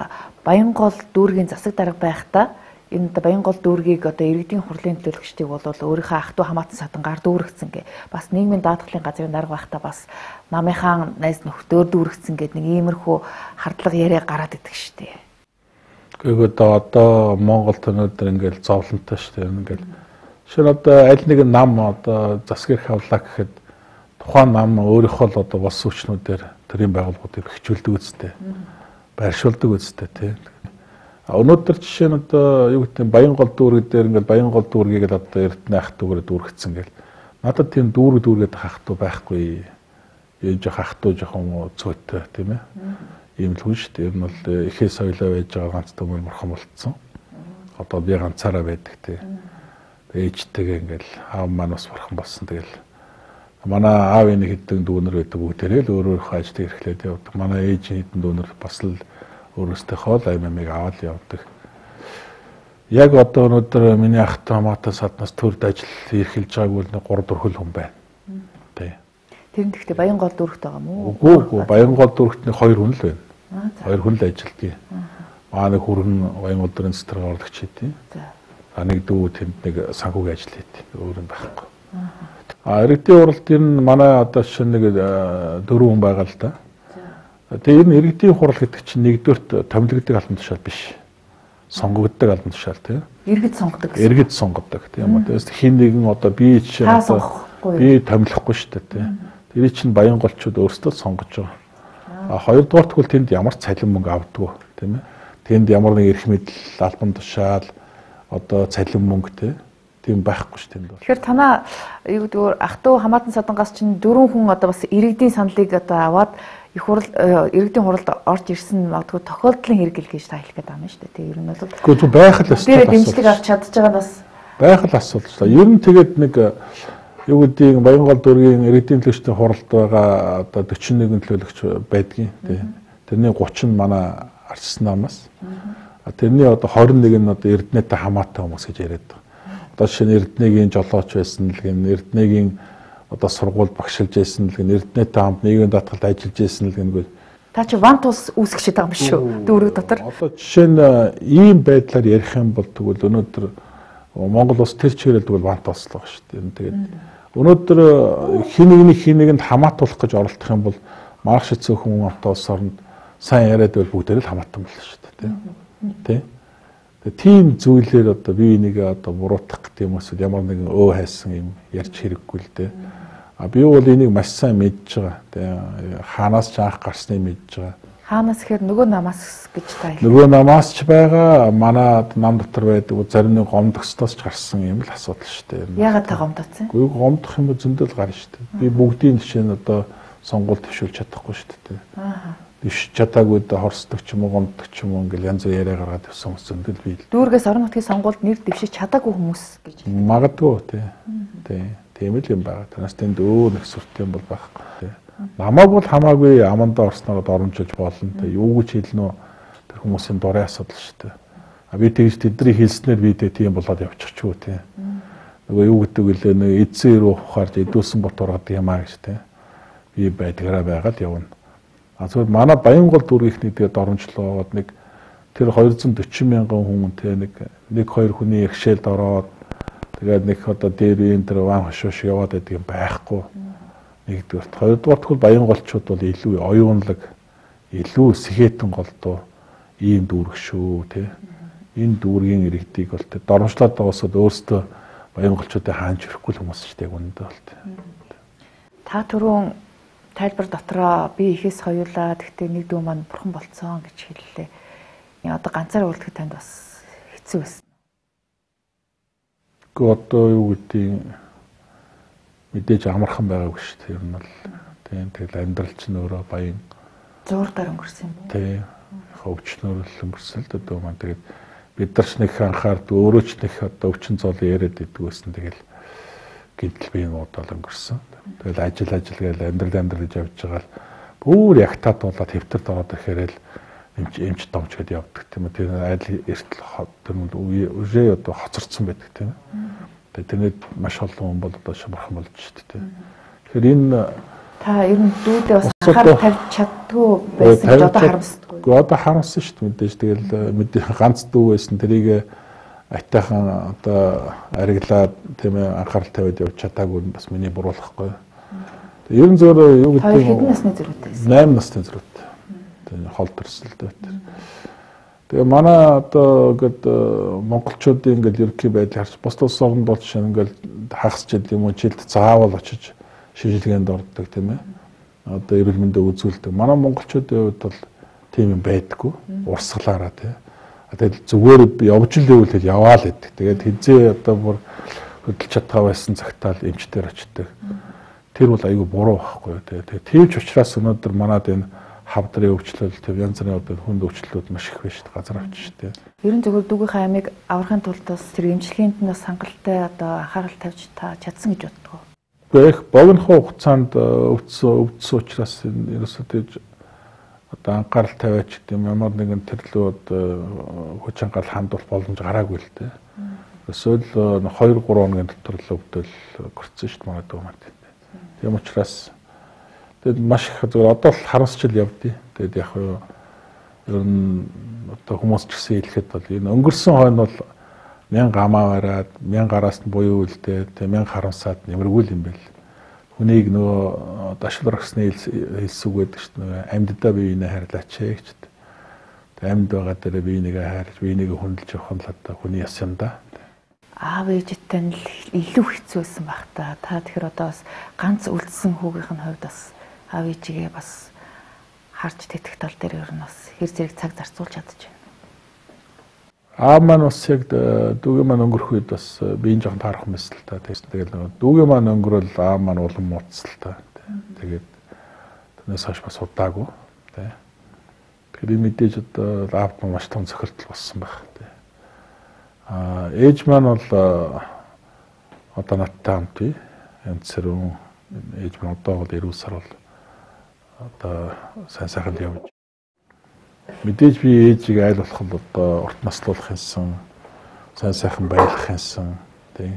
Баянгол дүүргийн засаг дарга байхдаа энэ Баянгол дүүргийг одоо иргэдийн хурлын төлөөлөгчдийг бол өөрийнхөө ах トゥ хамаатан садангаар дүүргэсэн гэ. Бас нийгмийн даатгалын газрын дарга байхдаа бас намынхаа найз нөхдөөр дүүргэсэн гэдэг нэг иймэрхүү хардлага яриа гараад идэг шүү дээ. Гэхдээ одоо Монголд өнөөдөр ингээл зовлонтой шүү дээ. Ингээл шинэ одоо аль нэгэн нам одоо засгэрх авлаа гэхэд тухайн нам өөрийнхөө л одоо бос хүчнүүдээр төрийн байгууллагуудыг бэхжүүлдэг үстэй. Байршуулдаг үстэй тий. Өнөөдөр жишээ нь одоо юу гэдэг Баянгол дүүрэг дээр ингээл Баянгол дүүргийг л одоо Эрдэнэ ах トゥ гэрээ дүүргэсэн гэл. Надад тийм дүүргээд ах トゥ байхгүй. Яаж ах トゥ жоохон цөөтэй тийм ээ. Ийм л хүн шүү дээ. Ер нь бол ихээ соёлоо байж байгаа ганц төмөр морхон болцсон. Одоо би ганцаараа байдаг тий. Ээжтэйгээ ингээл аав маань бас морхон болсон. Тэгэл манай аавын нэг хэдэн дүүнер байдаг бүгдээрээ л өөрөөхөө ажил эрхлээд явдаг. Манай ээжийн хэдэн дүүнер бас л өөрөөсөө хоол аймаг аваад явдаг. Яг одоо өнөөдөр миний ах トゥ хамаатан саднаас төрд ажил эрхэлж байгааг бол 3-4 хүн байна. Тий. Тэр нь гэхдээ Баянгол дүүрэгт байгаа мó? Үгүй Баянгол дүүрэгт 2 хүн л байна. 2 хүн л ажилтгий. Манай хүрэн Баянгол дүүргийн цэцэр орлогч хийдий. За. Нэг дүү тэнд нэг санхүүгийн ажил хийдий. Өөр нь байхгүй. Иргэдийн хуралд энэ манай одоо шинэ нэг 4 хүн байгаа л да. Тэгээ энэ иргэдийн хурал гэдэг чинь нэгдүгürt томилогддог албан тушаал биш. Сонгогддог албан тушаал тийм. Иргэд сонгодог гэсэн. Иргэд сонгодог тийм үү. Тэгээс хин нэгэн одоо би чинь одоо би томилохгүй шүү дээ тийм. Тэр чинь Баянголчууд өөрсдөө сонгож байгаа. Хоёрдугаар тэгвэл тэнд ямар ч цалин мөнгө авдаггүй тийм ээ. Тэнд ямар нэг эрх мэдэл албан тушаал одоо цалин мөнгө тийм байхгүй шүү тэнд бол. Тэгэхээр танаа юу гэдэг ах トゥ хамаатан садангаас чинь 4 хүн одоо бас иргэдийн саналыг одоо аваад их хурал иргэдийн хуралд орж ирсэн магадгүй тохиолдлын хэрэгэл гэж та хэлэх гээд байгаа юм шүү дээ. Тэгээ ер нь бол үгүй байх л өстой. Тэр дэмжлэг авч чадж байгаа нь бас байх л асуудал шүү дээ. Ер нь тэгээд нэг юу гэдэг Баянгол дүүргийн иргэдийн төлөөлөгчдийн хуралд байгаа одоо 41 төлөөлөгч байдгийн тий. Тэрний 30 нь манай арчсан намаас. Тэрний одоо 21 нь одоо Эрдэнэтэй хамаатай хүмүүс гэж яриад байгаа. Одоо жишээ нь Эрдэнэгийн жолооч байсан л гэн Эрдэнэгийн одоо сургууль багшилж байсан л гэн Эрдэнэтэй хамт нийгмийн даатгалд ажиллаж байсан л гэнгүй Та чи ван тус үүсгэж байгаа юм шүү. Дүүрэг дотор. Одоо жишээ нь ийм байдлаар ярих юм бол тэгвэл өнөөдөр Монгол улс тэр чиглэл тэгвэл ван туслаа шүү дээ. Тэгээд өнөөдөр хин нэгэнд хамаатуулах гэж оролдох юм бол маргааш цөөхөн амтаа улс орнд сайн яриад байвал бүгдээр л хамаатан болно шүү дээ. Тэ? Тийм зүйлээр одоо бие бинийгээ одоо буруутгах гэдэг юм эсвэл ямар нэгэн хайсан юм ярьж хэрэггүй л дээ. Би бол энийг маш сайн мэдж байгаа. Тэгээ хаанаас ч анх гарсныг мэдж байгаа. Хаанаас гэхээр нөгөө намаас гэж та хэлээ. Нөгөө намаас ч байгаа, манад нам дотор байдаг зарим нэг гомдогчдоос ч гарсан юм л асуудал шүү дээ. Яагаад та гомдоцсон? Үгүй гомдох юм зөндөл гарна шүү дээ. Би бүгдийн жишээ нь одоо сонгуульд төвшүүлж чадахгүй шүү дээ. Биш чадаагүй да хорсдог ч юм уу гомддог ч юм уу ингээл янз бүр яриа гаргаад явсан хүмүүс зөндөл бий. Дүүргээс орон нутгийн сонгуульд нэр дэвшиж чадаагүй хүмүүс гэж. Магадгүй тий. Тийм л юм байна. Танаас тэнд өөр нэг сүрт юм бол байхгүй. Намайг бол хамаагүй амандаа орсноор оромжилж болно. Юу гэж хэлнэ үү? Тэр хүмүүсийн дурын асуудал шүү дээ. Би тэгж тэдний хэлснээр би тийм болоод явчих ч үү тий. Нөгөө юу гэдэг вэ? Нэг эдсэн ирүү ухаарж эдүүлсэн бот ургаад юм аа гэж тий. Би байдгаараа байгаад явна. Зүгээр манай Баянгол дүүргийнхний тэгээд оромжлоод нэг тэр 240 мянган хүн тий нэг 2 хүний ихшээлд ороод тэгээд нэг одоо дээр энэ тэр ван хошоош яваад байдаг юм байхгүй. Нэгдүгээр. Хоёрдугаар тэгвэл Баянголчууд бол илүү оюунлаг, илүү сэхэтэн голдуу ийм дүүрэг шүү тий. Энэ дүүргийн иргэдийг бол тий доромжлоод байгаасаа өөрсдөө Баянголчуудыг хаанч өрөхгүй хүмүүс шүү дээ үнэндээ бол тий. Та түрүүн тайлбар дотроо би ихээс хоёулаа гэхдээ нэг дүү маань бурхан болцсон гэж хэллээ. Одоо ганцаараа үлдэхэд танд бас хэцүү байсан. Одоо юу гэдэг мэдээж амархан байгаагүй шүү дээ. Ер нь бол тийм тэгэл амьдрал чинь өөрөө баян зуурдаар өнгөрсөн юм. Тийм хөвчнөр л өнгөрсөн л дээ маань тэгээд бид нар ч нэг анхаард өөрөө ч нэг одоо өвчин зол яриад идэг байсан тэгэл гинтл биеийн удаа өнгөрсөн. Тэгэл ажил гээл амьдрал гэж явж байгаа л бүр ягтаад болоод хэвтэрд ороод ирэхээр л эмч домч гэдээ явдаг тийм үү. Тэр айл эртэл тэр үе одоо хоцорсон байдаг тийм үү. Тэгээд маш олон хүн бол одоо шамархан болж шүү дээ. Тэгэхээр энэ та ер нь дүүдээ бас анхаарал тавьж чаддгүй байсан гэж одоо харамсдаг. Одоо харамсан шүү дээ мэдээж. Тэгэл ганц дүү байсан тэрийг айтайхан одоо ариглаад тийм ээ анхаарал тавиад явж чадаагүй нь бас миний буруулахгүй. Ер нь зөөр юу гэдэг нь хэдэн насны зэрэгтэй байсан? 8 насны зэрэгтэй. Тэгээ хол төрсөлтэй. Тэгээ манай одоо ингээд монголчуудын ингээд ерөнхий байдлыг харж бус тус орнд бол жишээ нь ингээд хагас жил юм уу жилд заавал очиж шийдвэрлэгэнд ордог тийм ээ. Одоо эрүүл мэндэ үзүүлдэг. Манай монголчуудын хувьд бол тийм юм байдаггүй. Урсгалаараа тийм. Тэгээд зүгээр явж л байвал яваа л гэдэг. Тэгээд хизээ одоо бүр хөдөлж чадгаа байсан цагтаал эмчтэр очдог. Тэр бол айгүй буруу байхгүй. Тэгээд тийвч учраас өнөөдөр манад энэ хавдрын өвчлөл төв янз бүрийн одоо хүнд өвчлөлүүд маш их байна шүү дээ газар авч шүү дээ. Ер нь зөвхөн дүүгийнхаа амийг аврахын тулд бас тэр эмчилгээнд нь бас хангалттай одоо анхаарал тавьж та чадсан гэж боддог. Гэхдээ их богино хугацаанд өвдсөн учраас ерөөсөө тэгж одоо анхаарал тавиач гэдэг юм ямар нэгэн төрлөө одоо хүч анхаарал хандуулах боломж гараагүй л дээ. Эсвэл 2-3 хоногийн дотор л өвдөл гөрцөн шүү дээ манай дүү маань. Тийм учраас тэгээд маш их зөв одоо л харамсчил явдیں۔ Тэгээд яг ер нь одоо хүмүүс ч гэсэн хэлэхэд бол энэ өнгөрсөн хойно бол 1000 амаа бараад 1000 гараас нь буюу үлдээ тэгээд 1000 харамсаад нэмэргүй юм байл. Хүнийг нөгөө дашил рагсны хэлсүг байдаг шүү дээ. Амьддаа биеийг хайрлаач гэж. Тэгээд амьд байгаа дээр биеийг хайрлаж биеийг хүндэлж явах нь л одоо хүний яс юм да. Аав ээжтэй нь илүү хэцүү байсан байх та. Та тэгэхээр одоо бас ганц үлдсэн хүүгийнх нь хувьд бас аав ээжигээ бас харж тэтгэх тал дээр ер нь бас хэр зэрэг цаг зарцуулж чадчих байна. Аав маань бас яг дүүгийн маань өнгөрөх үед бас биеийн жоохон таарах мэсэл та. Тэгэл дүүгийн маань өнгөрөөл аав маань улам муудсал та. Тэгээд тэрнээс хойш бас удаагүй. Тэгэхээр мэдээж одоо аавд маань маш том цохилтол болсон байх. Ээж маань бол одоо надтай хамт бий. Янз бүрэн ээж маань одоо бол 90 сар бол одоо сайн сайханд явж. Мэдээж би ээжийг айл болох нь одоо урт наслуулах юмсан, сайн сайхан байлгах юмсан, тийм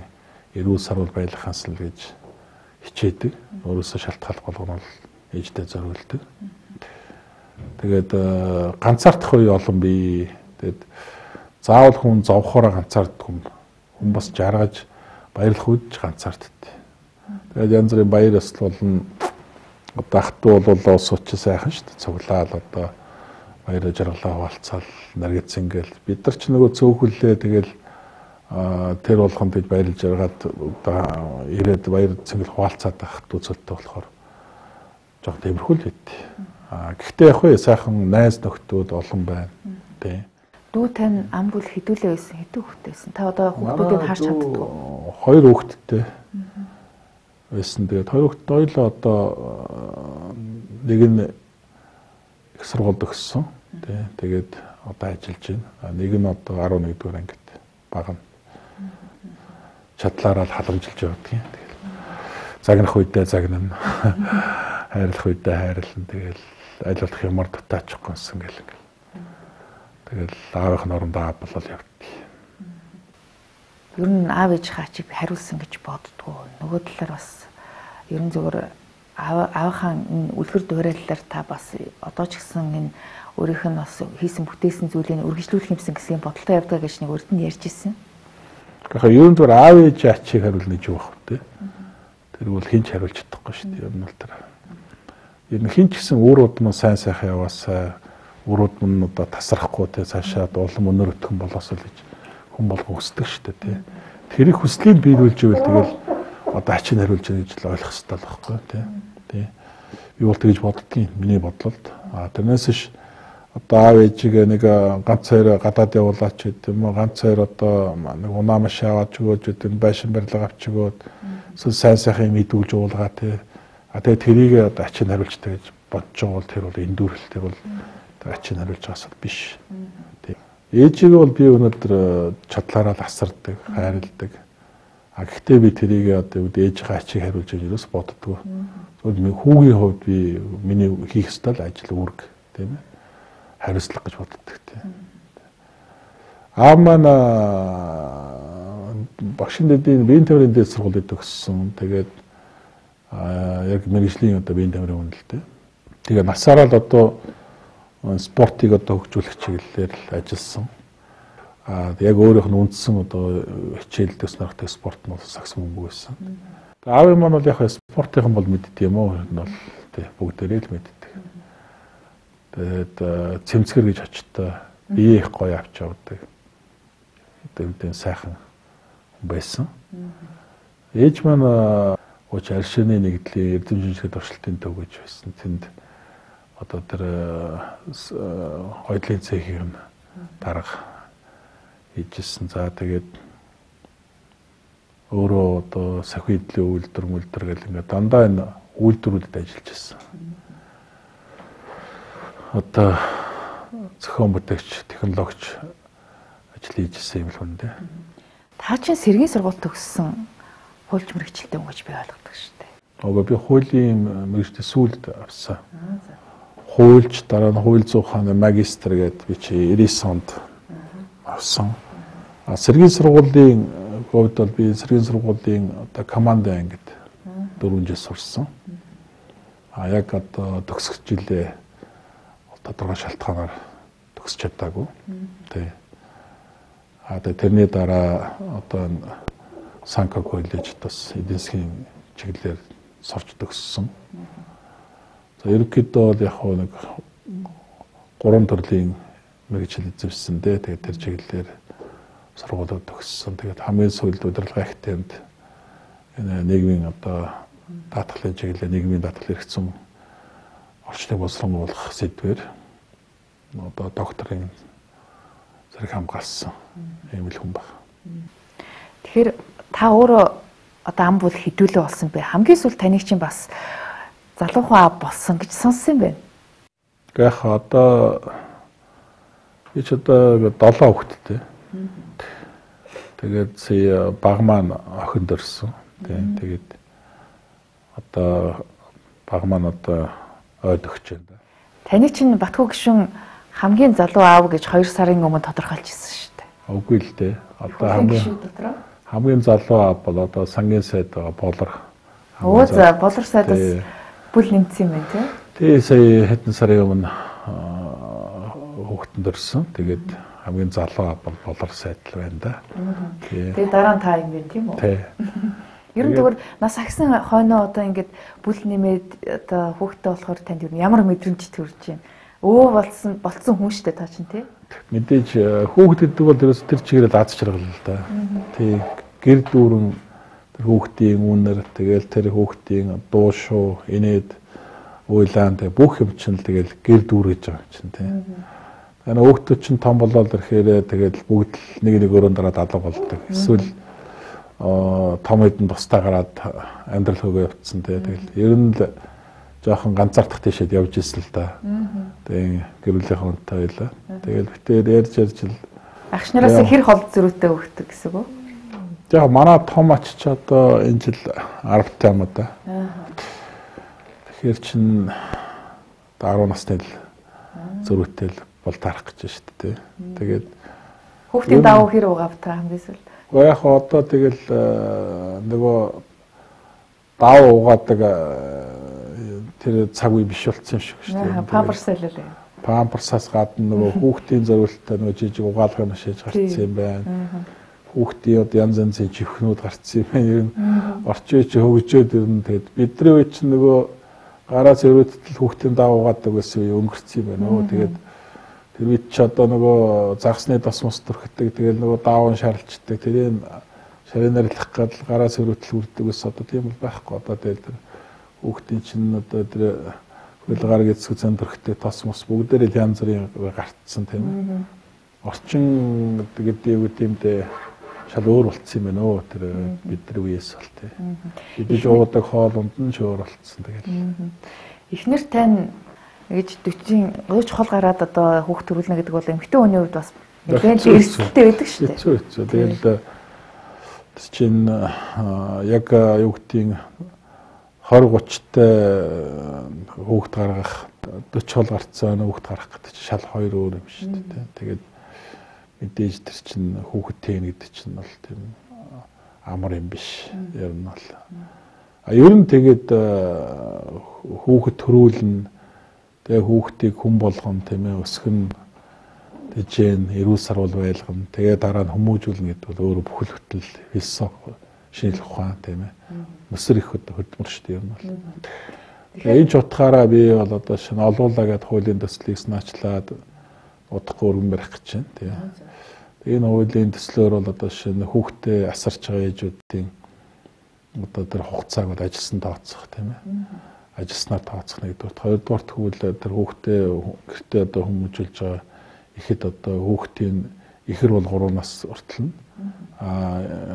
90 сар бол байлгах юмсан л гэж хичээдэг. Өөрөөсөө шалтгаалх болгоно бол ээжтэй зориулдаг. Тэгээд ганцаардах үе олон бий. Тэгээд заавал хүн зовхороо ганцаарддаг хүн бас жаргаж баярлах үед ч ганцаарддаг. Тэгээд янз бүрийн баяр ёслол болон одоо ахтуу бол ус учир сайхан шүү дээ. Цуглаал одоо баяр жаргалаа хуваалцаал наргиц ингээл бид нар ч нөгөө цөөхөллөө тэгэл тэр болгонд гэж баярлж жаргаад одоо ирээд баяр цэнгэл хуваалцаад байх үзэлтэй болохоор жоо тиймэрхүү л байд. Гэхдээ яг хөө сайхан найз нөхдүүд олон байна. Тий. Дүү тань ам бүл хэдүүлээ байсан, хэдүү хүүхдтэй байсан. Та одоо хүүхдүүдийг харж чаддаг уу? 2 хүүхдтэй байсан. Тэгээд 2 хүүхдтэй ойлоо одоо нэг нь их сургуульд өгсөн. Тий. Тэгээд одоо ажиллаж байна. Нэг нь одоо 11 дугаар ангид бага нь чадлаараа халамжилж явдаг юм. Тэгэл загнах үедээ загнана. Хайрлах үедээ хайрлана. Тэгэл аль болох ямар дутаачихгүйсэн гэл ингээл. Тэгэл аавынх нь орондоо аав болол явдаг. Ер нь аав ээж хаачиг хариулсан гэж боддгоо. Нөгөө талаар бас ер нь зөвөр аавынхаа үлгэр дуурайлалаар та бас одоо ч гэсэн энэ өөрийнх нь бас хийсэн бүтээсэн зүйлийг үргэлжлүүлэх юмсан гэсэн бодолтой явдаг гэж нэг урд нь ярьж ирсэн. Тэгэхээр ер нь зөвөр аав ээж хаачиг хариулна гэж юу вэ? Тэр бол хинч хариулж чадахгүй шүү дээ. Ер нь бол тэр. Ер нь хинч гэсэн өөрөд нь сайн сайхан яваасаа өрөөд нь одоо тасрахгүй те цаашаа улам өнөр өтгөн болоосоо л гэж хүн болго хүсдэг шүү дээ те. Тэрийг хүслийг биелүүлж ивэл тэгэл одоо ачиг хариулж байгаа гэж л ойлгох хэрэгтэй л байхгүй те. Тий. Би бол тэгж боддгийн миний бодлолд. Тэрнээс ш одоо аав ээжигээ нэг ганц хоёр гадаад явуулаач гэдэг юм уу ганц хоёр одоо нэг унаа маш аваад өгөөж гэдэг байшин барилга авч өгөөд сайн сайхан юм идүүлж уулгаа те. Тэгээ тэрийг одоо ачиг хариулж та гэж бодож байгаа бол тэр бол эндүрэл тэр бол ачиг хариулж байгаас биш. Тий. Ээжигээ бол би өнөөдөр чадлаараа л асардаг, хайрладаг. Гэхдээ би тэрийг одоо ээжийнхээ ачиг хариулж байгаа юус боддгоо. Зөвхөн хүүгийн хувьд би миний хийх ёстой л ажил үүрэг тийм ээ. Хариуцлага гэж боддог тийм. Маань багшин дэдийн биеийн тамирын дэд сургуулийг төгссөн. Тэгээд яг мэргэжлийн одоо биеийн тамирын үнэлтэй. Тэгээ насаараа л одоо спортыг одоо хөгжүүлэх чиглэлээр л ажилласан. Яг өөрийнх нь үндсэн одоо хичээл төснөртэй спорт нь бол сакс мөнгө байсан. Аав маань бол яг спортынхан бол мэддэг юм уу? Энэ бол тий бүгдээрээ л мэддэг. Тэгээд цэмцгэр гэж очтой бие их гоё авч явдаг. Тэгээд сайхан байсан. Ээж маань ууч аршины нэгдлийн эрдэмтдийн туршилтын төв гэж байсан. Тэнд одоо тэр хойдлын цэхийн дарга хийжсэн. За тэгээд өөрөө одоо сахидлын үйлдвэр гэл ингээд дандаа энэ үйлдвэрүүдэд ажиллаж байсан. Одоо зохион бүтээгч, технологич ажил хийжсэн юм л хүн дээ. Та чинь сэргийн сургууль төгссөн хуульч мэрэгчлээ өнгөж би ойлгодог шүү дээ. Би хуулийн мэрэгчтэй сүүлд авсан. Хуульч дараа нь хууль зүйн ухааны магистр гэдэг би чи 90 онд авсан. Сэргийн сургуулийн хувьд бол би сэргийн сургуулийн одоо командын ангид 4 жил сурсан. Яг одоо төгсөх жилээ тодорхой шалтгаанаар төгсч чадаагүй. Тий. Тэгээ тэрний дараа одоо Санка коллежид бас эдийн засгийн чиглэлээр сурч төгссөн. За ерөнхийдөө бол яг нэг 3 төрлийн мэргэжил эзэмшсэн дээ. Тэгээд тэр чиглэлээр сургуулиуд төгссөн. Тэгээд хамгийн сүүлд удирдлагын академид энэ нийгмийн одоо даатгалын чиглэлээр нийгмийн даатгал хэрэгцсэн орчныг боловсруулах сэдвээр одоо докторийн зэрэг хамгаалсан юм л хүн баг. Тэгэхээр та өөрөө одоо ам бол хэдүүлээ болсон бэ? Хамгийн сүүл таныг чинь бас залуухан аав болсон гэж сонссон юм байна. Яг одоо би ч одоо 7 хүүхэдтэй. Тэгээд сая баг маань охин дөрсөн. Тэгээд одоо баг маань одоо ойд өгч байна. Таны чинь Батхүү гишүүн хамгийн залуу аав гэж 2 сарын өмнө тодорхойлчихсон шүү дээ. Үгүй л дээ. Одоо хамгийн залуу аав бол одоо сангийн сайд болор. За болор сайдаас бүл нэмсэн юм байна тий. Тэгээ сая хэдэн сарын өмнө хүүхдэн дөрсөн. Тэгээд хамгийн залуу бол болор сайдл байна да. Тэгээд дараа нь та юм байна тийм үү? Тий. Ер нь зүгээр нас агсан хойноо одоо ингээд бүл нэмээд одоо хүүхдтэй болохоор танд ер нь ямар мэдрэмж төрж байна? Болцсон хүн штэ та чинь тий? Мэдээж хүүхэд гэдэг бол ерөөс тэр чигээр аз жаргал л да. Тий. Гэр дүүрэн тэр хүүхдийн үнэр тэгэл тэр хүүхдийн дуу шуу инээд уйлаан тэг бүх юм чинь тэгэл гэр дүүр гэж байгаа чинь тий. Тэгэхээр хүүхдүүд чинь том болоод ирэхээр тэгэл бүгд нэг өрөөнд дараад алга болдог. Эсвэл том хэдэн тустай гараад амьдрал хөөгөө явцсан тий. Тэгэл ер нь л жоохон ганцаардах тийшээд явж ирсэн л да. Тэгээ гэрүүлийнхэн хүнтэй байлаа. Тэгэл битээр ярьж л агш нараас хэр хол зөрүүтэй өгдөг гэсэн үг үү? Яг манай том ач ч одоо энэ жил 10 юм да. Тэгэхээр чин 10 настай л зөрүүтэй л бол тарах гэж байна шүү дээ. Тэгээд хүүхдийн давуу хэр угаав та хамгийн сүүл. Яг одоо тэгэл нөгөө давуу угаадаг тэр цаг үе биш болсон юм шиг шүү дээ. Памперсаа л үү. Памперсаас гадна нөгөө хүүхдийн зориултаа нөгөө жижиг угаалгын шиж гарцсан юм байна. Хүүхдийн одоо янз янзын живхнүүд гарцсан юм байна. Ер нь орчин үеч хөгжөөд ер нь тэгээд бидний үе чинь нөгөө гараа зөрөөдөл хүүхдийн давуу угаадаг байсан үе өнгөрцөн юм байна. Тэгээд тэр үед ч одоо нөгөө загсны тос мос төрхөдөг тэгэл нөгөө даавн шарлцдаг тэрийг шаринарлах гал гараа зөрөөдөл үрдэг ус одоо тийм бол байхгүй одоо тэгэл хүүхдийн чинь одоо тэр хөлгаар гэцэг зэн төрхтэй тос мос бүгдээрээ янз бүрийн гартсан тийм орчин гэдэг юу гэмдээ шал өөр болцсон юм байна өө тэр бидний үеэс бол тийм бид жуудаг хоолунд нь өөр болцсон тэгэл эхнэр тань гэж 40 хол гараад одоо хүүхд төрүүлнэ гэдэг бол эмэгтэй хүний хувьд бас нэлээд эрсдэлтэй байдаг шүү дээ. Хэцүү. Тэгэл чинь яг юу гэдгийг 20-30-тай хүүхд гаргах 40 хол гарцсан хүүхд гарах гэдэг чинь шал хоёр өөр юм шүү дээ. Тэгээд мэдээж тэр чинь хүүхд тэн гэдэг чинь бол тийм амар юм биш. Ер нь бол. Ер нь тэгээд хүүхд төрүүлнэ тэгээ хүүхдийг хүн болгоно тийм ээ өсгөн тэжээн эрүүл сарвал байлгана тэгээ дараа нь хүмүүжүүлнэ гэдэг бол өөрөө бүхэл хөтөл философи шинжлэх ухаан тийм ээ өсөр их хөдөлмөр шүү дээ юм бол тэгээ энэ ч утгаараа би бол одоо шинэ олуулаа гэдэг хуулийн төслийг санаачлаад удахгүй өргөн барих гэж байна тийм энэ хуулийн төслөөр бол одоо шинэ хүүхдээ асарч байгаа ээжүүдийн одоо тэр хугацааг бол ажилласан тооцох тийм ээ ажилснаар тооцох нэгдүгээр хоёрдугаар тэгвэл тэр хүүхдээ гэртээ одоо хүмүүжүүлж байгаа ихэд одоо хүүхдийн ихэр бол 3 нас хүртэл нь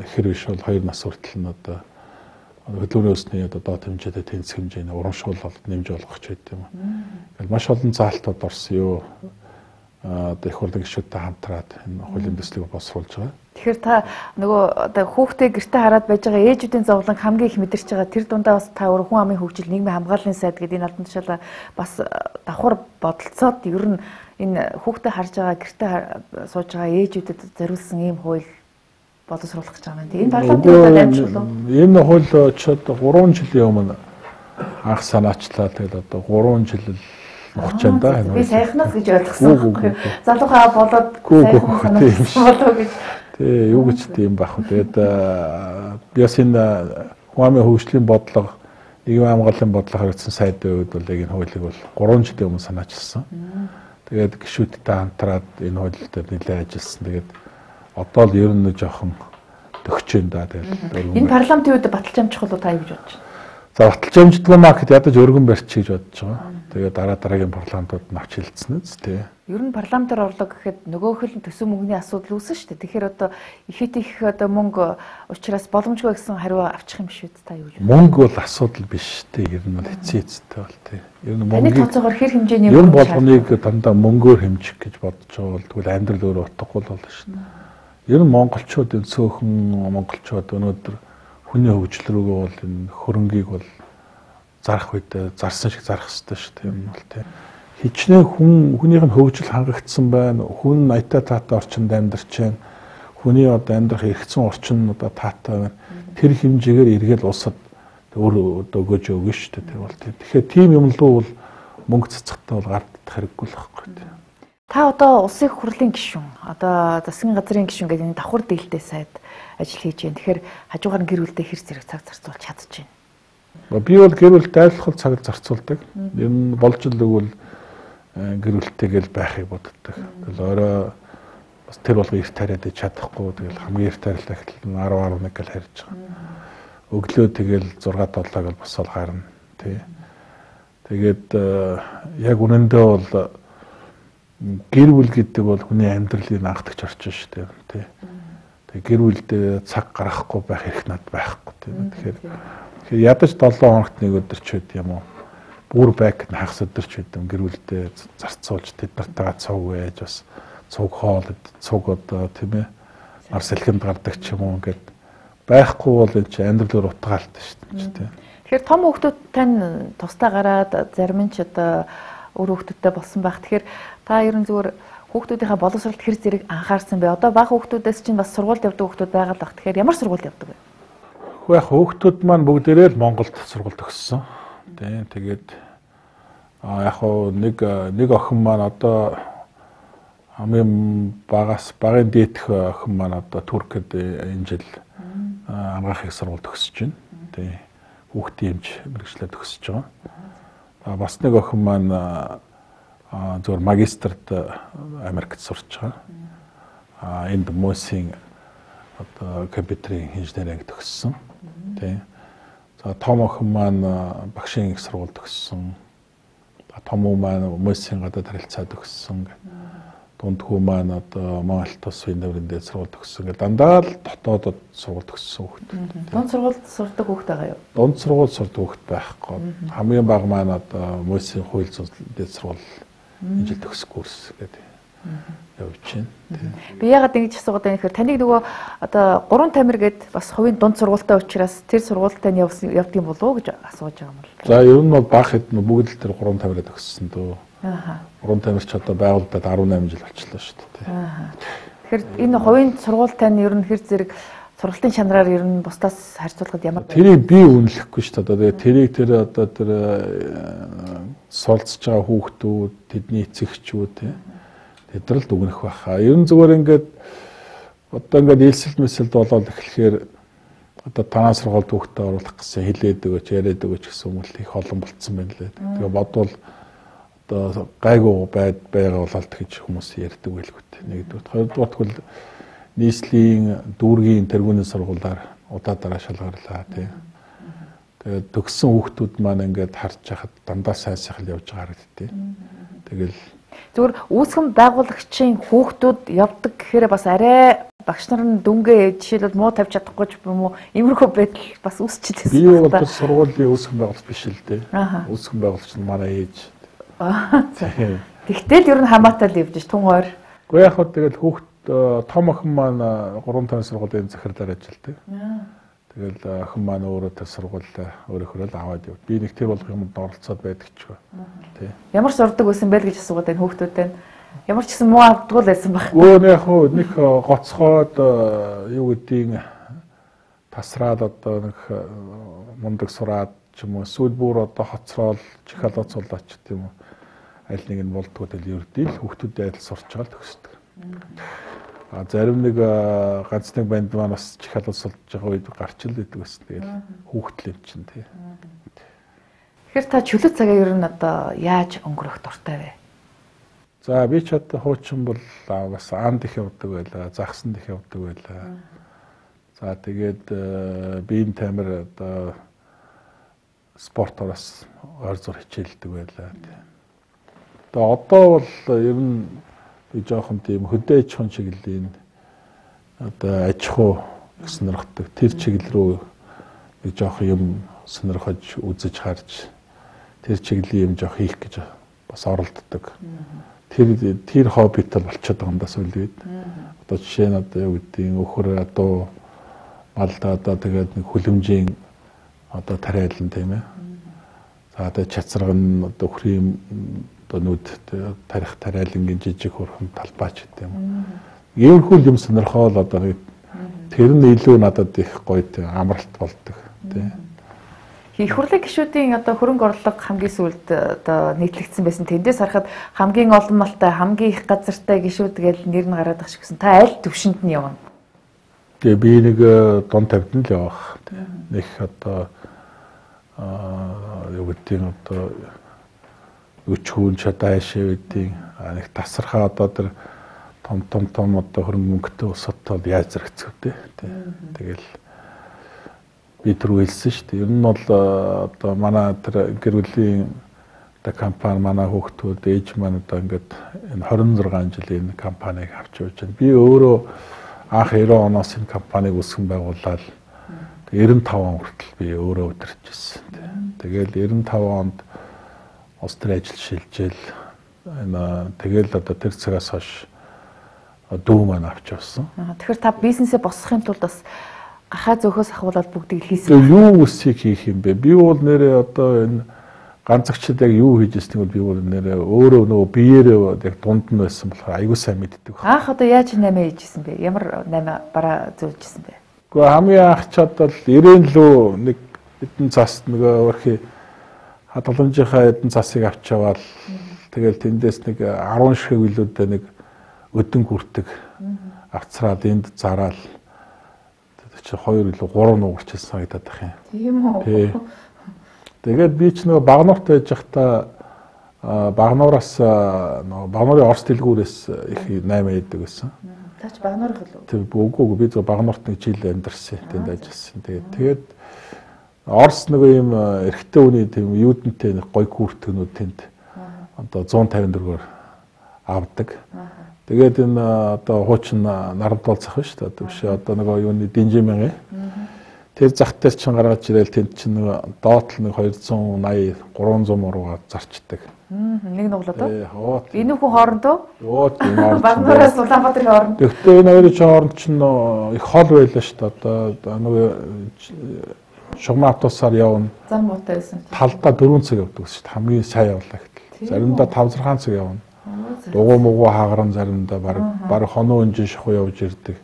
ихэр биш бол 2 нас хүртэл нь одоо хөдөлгөөний өсний одоо доод хэмжээтэй тэнцэх хэмжээний урамшуул бол нэмж болгох ч гэдэг юм. Ингээл маш олон заалтууд орсон юу одоо их хурлын гишүүдтэй хамтраад энэ хуулийн төслийг босруулж байгаа. Тэгэхээр та нөгөө одоо хүүхдээ гэрте хараад байж байгаа ээжүүдийн зовлон хамгийн их мэдэрч байгаа тэр дундаа бас та өөр хүн амын хөгжил нийгмийн хамгааллын сайд гэдэг энэ албан тушаалаа бас давхар бодолцоод ер нь энэ хүүхдээ харж байгаа гэрте сууж байгаа ээжүүдэд зориулсан ийм хууль боловсруулах гэж байгаа юм. Энэ парламентын хувьд амжилт уу? Энэ хууль ч одоо 3 жилийн өмнө анх санаачлаа тэгэл одоо 3 жил хугацаанд би сайхнаас гэж ойлгосон. Залуухаа болоод сайхнаас болоо гэж. Тэ юу гэж тийм байх вэ? Тэгээд би бас энэ хүн амын хөгжлийн бодлого, нийгмийн хамгааллын бодлого харагдсан сайдын үед бол яг энэ хуулийг бол 3 жилийн өмнө санаачилсан. Тэгээд гишүүдтэй хамтраад энэ хууль дээр нэлээд ажилласан. Тэгээд одоо л ер нь жоохон төгчөөн да. Тэгээд энэ парламентын үед баталж амжих бол та юу гэж бодож байна? За баталж амждгаа маркет ядаж өргөн барьчих гэж бодож байгаа. Тэгээд дараагийн парламентууд нь авч хэлсэн үст тий. Ер нь парламентаар орлого гэхэд нөгөөх нь төсөв мөнгөний асуудал үүсэн шүү дээ. Тэгэхээр одоо ихэд их одоо мөнгө учраас боломжгүй гэсэн хариу авчих юм шүү дээ. Та юу гэж байна? Мөнгө бол асуудал биш тий. Ер нь бол хэцээцтэй бол тий. Ер нь мөнгөний тооцоогоор хэр хэмжээний ер нь болгоныг дандаа мөнгөөр хэмжих гэж бодож байгаа бол тэгвэл амьдрал өөрөө утгагүй болно шүү дээ. Ер нь монголчуудын цөөхөн монголчууд өнөөдөр хүний хөгжил рүүгээ бол энэ хөрөнгийг бол зарах үед зарсан шиг зарах хэрэгтэй шүү дээ юм бол тийм хичнээн хүнийх нь хөгжил хангагдсан байна хүн аятаа таатай орчинд амьдарч байна хүний одоо амьдрах эргэцэн орчин одоо таатай байна тэр хэмжээгээр эргээл улсад өөр одоо өгөөж өгнө шүү дээ тэр бол тийм тэгэхээр тийм юм луу бол мөнгө цацахтай бол гардах хэрэггүй л байхгүй тийм Та одоо улсын их хурлын гишүүн, одоо засгийн газрын гишүүн гэдэг энэ давхар дийлтэй сайд ажил хийж байна. Тэгэхээр хажуугаар нь гэр бүлдээ хэр зэрэг цаг зарцуулж чадчихэв. Би бол гэр бүлд айлхал цаг зарцуулдаг. Ер нь болж л өгвөл гэр бүлтэйгээл байхыг боддог. Тэгэл орой бас тэр болго эрт тариад чадахгүй. Тэгэл хамгийн эрт тарил дахил 10-11 гэл харьж байгаа. Өглөө тэгэл 6-7 гэл босоод гарна. Тий. Тэгээд яг үнэндээ бол гэр бүл гэдэг бол хүний амьдралын анхдагч орчин шүү дээ. Тий. Тэгээд гэр бүлдээ цаг гаргахгүй байх хэрэг над байхгүй. Тий. Тэгэхээр ядаж 7 хоногт нэг өдөр ч байд юм уу. Бүр байк хагас өдөр ч байд юм гэр бүлдээ зарцуулж тэд нартайгаа цуг байж бас цуг хоол цуг одоо тийм ээ ар салхинд гардаг ч юм уу ингээд байхгүй бол энэ чинь амьдралаар утгаалтай шүү дээ. Тэгэхээр том хүүхдүүд тань тусдаа гараад зарим нь ч одоо өөр хүүхдүүдтэй болсон байх. Тэгэхээр та ер нь зүгээр хүүхдүүдийнхээ боловсролд хэр зэрэг анхаарсан бэ? Одоо бага хүүхдүүдээс чинь бас сургуульд явдаг хүүхдүүд байгаа л баг. Тэгэхээр ямар сургуульд явдаг вэ? Яг хүүхдүүд маань бүгдээрээ л Монголд сургуульд төгссөн. Тэгээд яг нэг охин маань одоо хамгийн багын дээдх охин маань одоо Туркид энэ жил амгаахыг сургуульд төгсөж байна. Хүүхдийн эмч мэргэжлээ төгсөж байгаа. Бас нэг охин маань зөвхөн магистрт Америкт сурч байгаа. Энд Мосийн одоо компьютерийн инженеринг төгссөн. Тий. За том охин маань багшийн их сургууль төгссөн. Том хүү маань Мосийн гадаад харилцаа төгссөн. Дунд хүү маань одоо Монголд тус Виндаврын дээр сургууль төгссөн. Дандаа л дотоодод сургууль төгссөн хүүхэд. Дунд сургуульд сурдаг хүүхэд байгаа юу? Дунд сургууль сурдаг хүүхэд байхгүй. Хамгийн бага маань одоо Мосийн хууль зүйн сургууль энэ жил төгсөх курс гэдэг явж байна. Би яагаад ингэж асуугаад байна гэхээр таныг нөгөө одоо 3 тамир гээд бас хувийн дунд сургуультай учраас тэр сургуульд тань явдгийн болов уу гэж асууж байгаа юм бол. За ер нь бол бага хэд бүгд л тэр 3 тамираа төгссөн дөө. 3 тамирч одоо байгууллагад 18 жил болчихлоо шүү дээ. Тэгэхээр энэ хувийн сургууль тань ер нь хэр зэрэг сургалтын чанараар ер нь бусдаас харьцуулахад ямар тэрийг би үнэлэхгүй шүү дээ. Тэгээ тэрийг одоо тэр суралцж байгаа хүүхдүүд, тэдний эцэгчүүд тэдрэлд өгнөх байхаа. Ер нь зүгээр ингээд одоо ингээд элсэлт мэсэлд болоод эхлэхээр одоо танаа сургуульд хүүхдээ оруулах гэсэн хэлээд өгөөч, яриад өгөөч гэсэн хүмүүс их олон болцсон байна лээ. Тэгээ бодвол одоо гайгүй байгаа болоод гэж хүмүүс ярьдаг байлгүй. Нэгдүгээр, хоёрдугаар бол нийслэлийн дүүргийн тэргүүний сургуулиар удаа шалгарлаа тий. Тэгээд төгссөн хүүхдүүд маань ингээд харж байхад дандаа сайн сайхан явж байгаа хэрэгтэй. Тэгэл зүгээр үүсгэн байгуулагчийн хүүхдүүд явдаг гэхээр бас арай багш нар нь дүнгээ жишээлбэл муу тавьж чадахгүй ч юм уу иймэрхүү байдал бас үүсчихдээ. Би бол тэр сургуулийн үүсгэн байгуулагч биш л дээ. Үүсгэн байгуулагч нь манай ээж. Тэгтэл ер нь хамаатай л явж тун ойр. Гэхдээ яг хөө тэгэл хүүхд том охин маань 3 сургуулийн захирлаар ажилладаг. Тэгэл охин маань өөрөө тэр сургуулиа өөрөөр л аваад яв. Би нэг тэр болох юмд оролцоод байдаг ч гоо. Тий. Ямар сурдаг байсан бэ гэж асуугаад байна хүүхдүүдтэй. Ямар ч гэсэн муу авдаггүй л байсан баг. Өө яг хөө нэг гоцхоод юу гэдгийг тасраад одоо нэг мундаг сураад ч юм уу сүүл бүр одоо хоцроод чихалаад суулаач гэдэг юм уу. Аль нэг нь болдгоо тэл ердий л хүүхдүүдээ адил сурч байгаа л төгсдөг. Зарим нэг ганц нэг банд маань бас чихалууд сулж байгаа үед гарч л идэг гэсэн. Тэгэл хүүхдэл юм чинь тий. Тэгэхээр та чөлөө цагаа ер нь одоо яаж өнгөрөх дуртай вэ? За би ч одоо хуучин бол бас анд их явдаг байлаа, загсанд их явдаг байлаа. За тэгээд биеийн тамир одоо спортоос ойр зур хичээлдэг байлаа. Одоо бол ер нь би жоохон тийм хөдөө аж ахуйн чиглэлийн одоо аж ахуй сонирхдаг тэр чиглэл рүү би жоохон юм сонирхож үзэж харж тэр чиглэлийн юм жоох хийх гэж бас оролддог. Тэр хоббитэй болчиход байгаа юм да сүүл үед. Одоо жишээ нь одоо юу гэдгийг өхөр одоо малдаа одоо тэгээд нэг хүлэмжийн одоо тариалан тийм ээ. За одоо чацраг нь одоо өхрийн одоо нүд тарих тариалангийн жижиг хурхан талбайч гэдэг юм. Иймэрхүү юм сонирхол одоо тэр нь илүү надад их гоё амралт болдог тийм. Их хурлын гишүүдийн одоо хөрөнгө орлого хамгийн сүүлд одоо нийтлэгдсэн байсан. Тэндээс харахад хамгийн олон малтай, хамгийн их газартай гишүүд гэж нэр нь гараад ах шиг гэсэн. Та аль төвшөнд нь явна? Тэгээ би нэг дунд тавьд нь л явах. Нэг одоо юу гэдэг нь одоо өчгүүн чадаашаа үдийн нэг тасархаа одоо тэр том одоо хөрөнгө мөнгөтэй усатал яаж зэрэгцэв дээ. Тэгэл би түр хэлсэн шүү дээ. Ер нь бол одоо манай тэр гэр бүлийн одоо компани манай хүүхдүүд ээж маань одоо ингээд энэ 26 жилийн компанийг авч явж байна. Би өөрөө анх 90 оноос энэ компанийг үүсгэн байгуулаад 95 он хүртэл би өөрөө удирдах гэсэн. Тэгэл 95 онд улс төр ажил шилжээл энэ тэгэл одоо тэр цагаас хойш дүү маань авч явсан. Тэгэхээр та бизнесээ босгохын тулд бас гахаа зөөхөөс ахуулаад бүгдийг хийсэн. Юу үсийг хийх юм бэ? Би бол нэрээ одоо энэ ганцагчд яг юу хийж ирснийг бол би бол нэрээ өөрөө нөгөө биеэрээ яг дунд нь байсан болохоор аягүй сайн мэддэг байна. Анх одоо яаж 8 хийжсэн бэ? Ямар 8 бараа зөөжсэн бэ? Гэхдээ хамгийн анх чад бол 90 лөө нэг эдэн цас нөгөө өөрхий хадгаламжийнхаа эдэн цасыг авч яваал тэгэл тэндээс нэг 10 ширхэг билүүдэд нэг өдөн гүртэг авцраад энд зараал чи 2 илүү 3 нуурчсан санагдаад байх юм. Тийм үү? Тэгээд би ч нөгөө багнуурт байж байхдаа багнуураас нөгөө багнуурын орос дэлгүүрээс их 8 яадаг байсан. Та ч багнуурах уу? Тийм үгүй би зөв багнуурт нэг жил амьдарсан. Тэнд ажилласан. Тэгээд орос нөгөө юм эрэгтэй хүний тийм юудэнтэй нэг гой гүртгнүүд тэнд одоо 154-оор авдаг. Тэгээд энэ одоо хуучин нарамдуул зах биш үү? Одоо биш одоо нөгөө юуны Динжимэн. Тэр зах дээр чинь гаргаж ирээл тэнд чинь нөгөө доотл нэг 280 300 муруугаар зарчдаг. Нэг нуглаад уу? Тий. Энэ хүн хоорондоо? Йоо тийм хооронд. Багнуураас Улаанбаатарын хооронд. Гэхдээ энэ хоёрын хооронд чинь их хол байлаа шүү дээ. Одоо нөгөө шугам автобусаар явна. Зам муутай байсан. Талдаа 4 цаг явдаг шүү дээ. Хамгийн сайн явлаа гэтэл. Заримдаа 5-6 цаг явна. Дугуй муугүй хаагаран заримдаа баг хоноо өнжин шахуу явж ирдэг.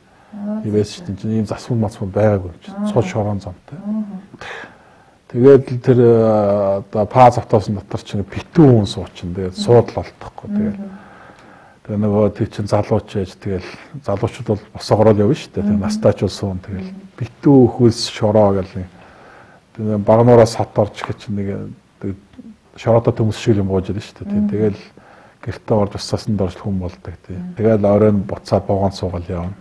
Ивэс чинь ийм засмал мацмал байгаагүй юм. Цул шорон замтай. Тэгээд тэр одоо паз автобусны дотор чинь битүү хүн суучин. Тэгээд суудлал олдохгүй. Тэгээд нөгөө тий чин залууч яаж тэгэл залуучууд бол босоогорол явна шүү дээ. Тэгээд настаач бол суун тэгэл битүү хөлс шороо гэл тэгээд багнуураас хат орж гэж нэг шороодо төмс шиг юм гоож ирнэ шүү дээ. Тэгэл гэртээ орж усаасан дорж хүн болдог тий. Тэгээд оройн буцаад богоон суугаал явна.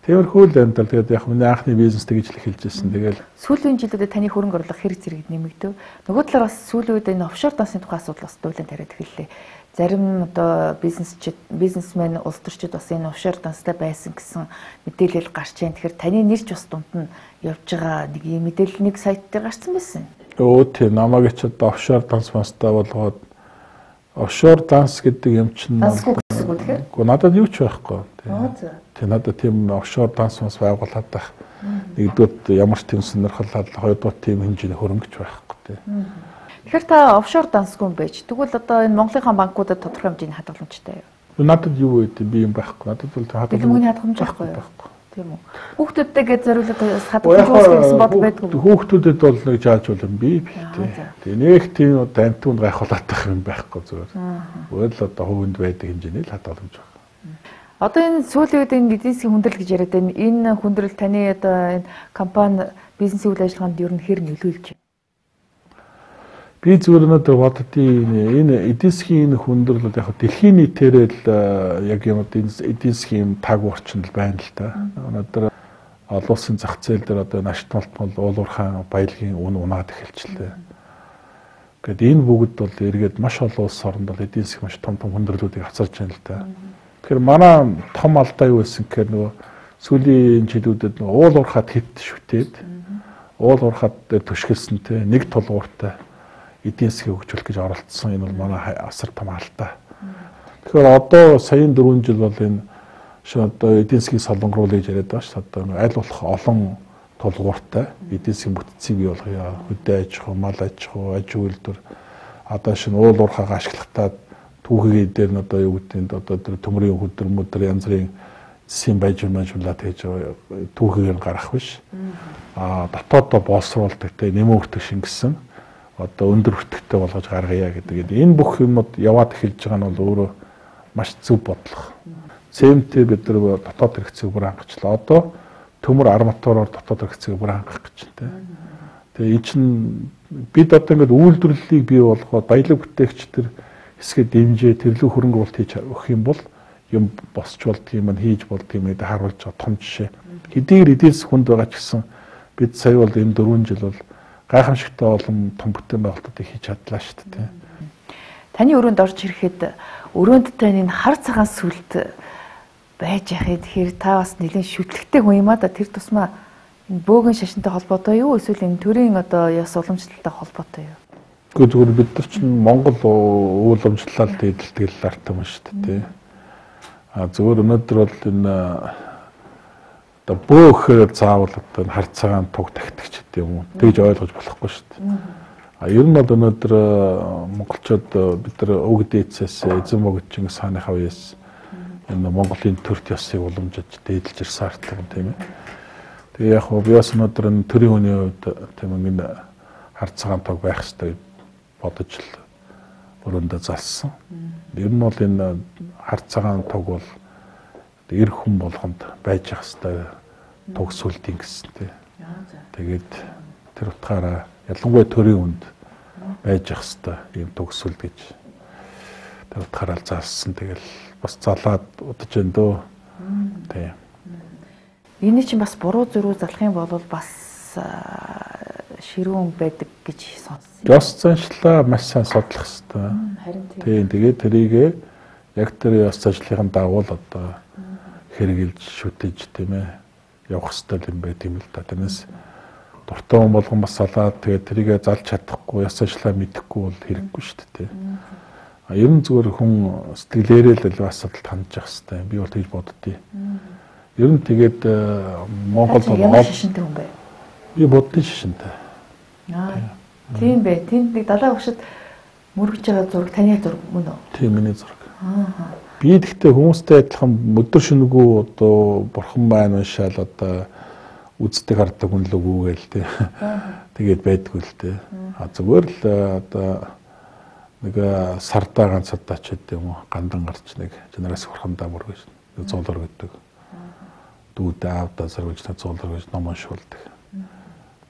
Тиймэрхүү л энэ тэгээд яг миний анхны бизнес тэгж л эхэлж ирсэн. Тэгэл сүүлийн жилүүдэд таны хөрөнгө орлого хэрэг зэрэг нэмэгдэв. Нөгөө талаар бас сүүлийн үед энэ офшор дансны тухай асуудал бас дуулан тариад эхэллээ. Зарим одоо бизнесмен улс төрчид бас энэ офшор данстай байсан гэсэн мэдээлэл гарч байна. Тэгэхээр таны нэр ч бас дунд нь явж байгаа нэг юм мэдээлэл нэг сайт дээр гарсан байсан. Өө тийм намайг ч одоо офшор данс мастай болгоод офшор данс гэдэг юм чинь Гэхдээ надад юу ч байхгүй. Тэг надад тийм офшор данс мас байгуулад байх. Нэгдүгээр ямар ч тийм сонирхол, хоёрдугаар тийм хэмжээний хөрөнгөч байхгүй тий. Тэгэхээр та офшор дансгүй юм байж. Тэгвэл одоо энэ Монголынхаа банкудад тодорхой хэмжээний хадгаламжтай юу? Надад юу вэ? Би юм байхгүй. Надад бол хадгаламж байхгүй юу? Тийм үү. Хүүхдүүдтэйгээ зориулаад хадгаламж үүсгэх бодол байдгүй. Хүүхдүүдэд бол нэг жааж болон би тий. Тэгээ нэг тийм амтунд гайхуулаад байх юм байхгүй зүгээр. Өөр л одоо хувинд байдаг хэмжээний л хадгаламж байна. Одоо энэ сүүлийн үед энэ эдийн засгийн хүндрэл гэж яриад байна. Энэ хүндрэл таны одоо энэ компани бизнесийн үйл ажиллагаанд ер нь хэр нөлөөлж байна? Би зүгээр надад боддtiin энэ эдийн засгийн хүндрэл бол яг дэлхийн нийтээр л яг юм эдийн засгийн таг орчинд байна л да. Өнөөдөр олон улсын зах зээл дээр одоо наштмалт бол уулуурхаан баялагын үн унаад эхэлчихлээ. Гэт энэ бүгд бол эргээд маш олон улс орнд бол эдийн засгийн маш том хүндрэлүүдийг авчирч байна л да. Тэгэхээр манай том алдаа юу байсан гэхээр нөгөө сүүлийн жилүүдэд нөгөө уул уурхад хит шүтээд уул уурхад төшгөлсөн те нэг тулгууртай эдийн засгийг хөгжүүлэх гэж оролцсон. Энэ бол манай асар том алдаа. Тэгэхээр одоо саяын 4 жил бол энэ одоо эдийн засгийн солонгоруулах гэж яриад байгаа шүү. Одоо аль болох олон тулгууртай эдийн засгийн бүтцийг бий болгоё. Хөдөө аж ахуй, мал аж ахуй, аж үйлдвэр одоо шинэ уул уурхайгаа ашиглахтаа түүхий дээр нь одоо юу гэдэг нь одоо тэр төмрийн хөдөр янз бүрийн эцсийн баяжуулаад тэгж түүхээр гарах биш. Дотооддоо боловсруулдаг те нэмэгдэх шингэсэн одоо өндөр өртөгтэй болгож гаргая гэдэг. Энэ бүх юмуд яваад эхэлж байгаа нь бол өөрөө маш зөв бодлого. ЦМТ бид нар дотоод хэрэгцээг бүр хангацлаа. Одоо төмөр арматураар дотоод хэрэгцээг бүр хангах гэж байна. Тэгээ энэ чинь бид одоо ингээд үйлдвэрлэлийг бий болгоод баялаг бүтээгчдэр хэсгээ дэмжээ тэрлүү хөрөнгө оруулалт хийж өгөх юм бол юм босч болдго юм хийж болдго юм гэдэг харуулж байгаа том жишээ. Хэдийгээр эдээс хүнд байгаа ч гэсэн бид сая бол энэ 4 жил бол гайхамшигтай олон том бүтээн байгуулалтыг хийж чадлаа шүү дээ. Таны өрөөнд орж ирэхэд өрөөнд тань энэ хар цагаан сүлд байж яхад тэгэхээр та бас нэлийн шүтлэгтэй хүн юм а да тэр тусмаа энэ бөөгөн шашинтай холбоотой юу эсвэл энэ төрийн одоо яс уламжлалтай холбоотой юу? Гэхдээ зүгээр бид нар чинь Монгол уламжлалт эдэлтгэл артам шүү дээ. Зүгээр өнөөдөр бол энэ одоо бөөхөр заавал одоо хар цагаан туг тагтагч гэдэг юм уу тэгж ойлгож болохгүй шүү дээ. Ер нь бол өнөөдөр монголчууд бид нар өг дээдсээс эзэн богдчин сааныхаа үеэс энэ Монголын төрт ёсыг уламжиж дээдлж ирсэн артлаг тийм ээ. Тэгээ яг хөө би бас өнөөдөр энэ төрийн хүний хувьд тийм энэ хар цагаан туг байх хэрэгтэй бодож л өрөөндөө залсан. Ер нь бол энэ хар цагаан туг бол эр хүн болгонд байж ах хэвээр туг сүлдийн гэсэнтэй. Тэгээд тэр утгаараа ялангуяа төрийн хүнд байж ах хэвээр ийм туг сүлд гэж тэр утгаараа залсан. Тэгэл бас залаад удаж энэ дөө. Тийм. Энэ чинь бас буруу зөрүү залах юм бол бас ширүүн байдаг гэж сонссон. Ёс заншлаа маш сайн судлах хэрэгтэй. Харин тийм. Тэгээд тэрийг яг тэр ёс заншлахын дагуу л одоо хэрэгжилж шүтэж тийм ээ явах хэрэгтэй юм байт юм л да. Тэрнээс дуртай хүн болгон бас салаад тэгээд тэрийг залж чадахгүй ёс заншлаа мэдэхгүй бол хэрэггүй шүү дээ. Ер нь зүгээр хүн сэтгэлээрээ л асуудалд хандж явах хэрэгтэй. Би бол тэгж боддتي. Ер нь тэгээд Монгол бол ямар шишинтэй хүн бэ? Би буддын шишинтэй. Тийм бэ. Тэнд нэг далай багшид мөргөж байгаа зураг таны зураг мөн үү? Тийм миний зураг. Би тэгтээ хүмүүстэй адилхан өдөр шөнөгүй одоо бурхан маань уншаал одоо үздэг хардаг хүн л үгүйгээл тий. Тэгээд байдгүй л тий. Зүгээр л одоо нэг сардаа ганц удаа ч гэдэг юм уу гандан гарч нэг жанараас хурхандаа мөргөж нэг зуулар гэдэг. Дүүдээ аавдаа зарвж та зуулар гэж ном уншуулдаг.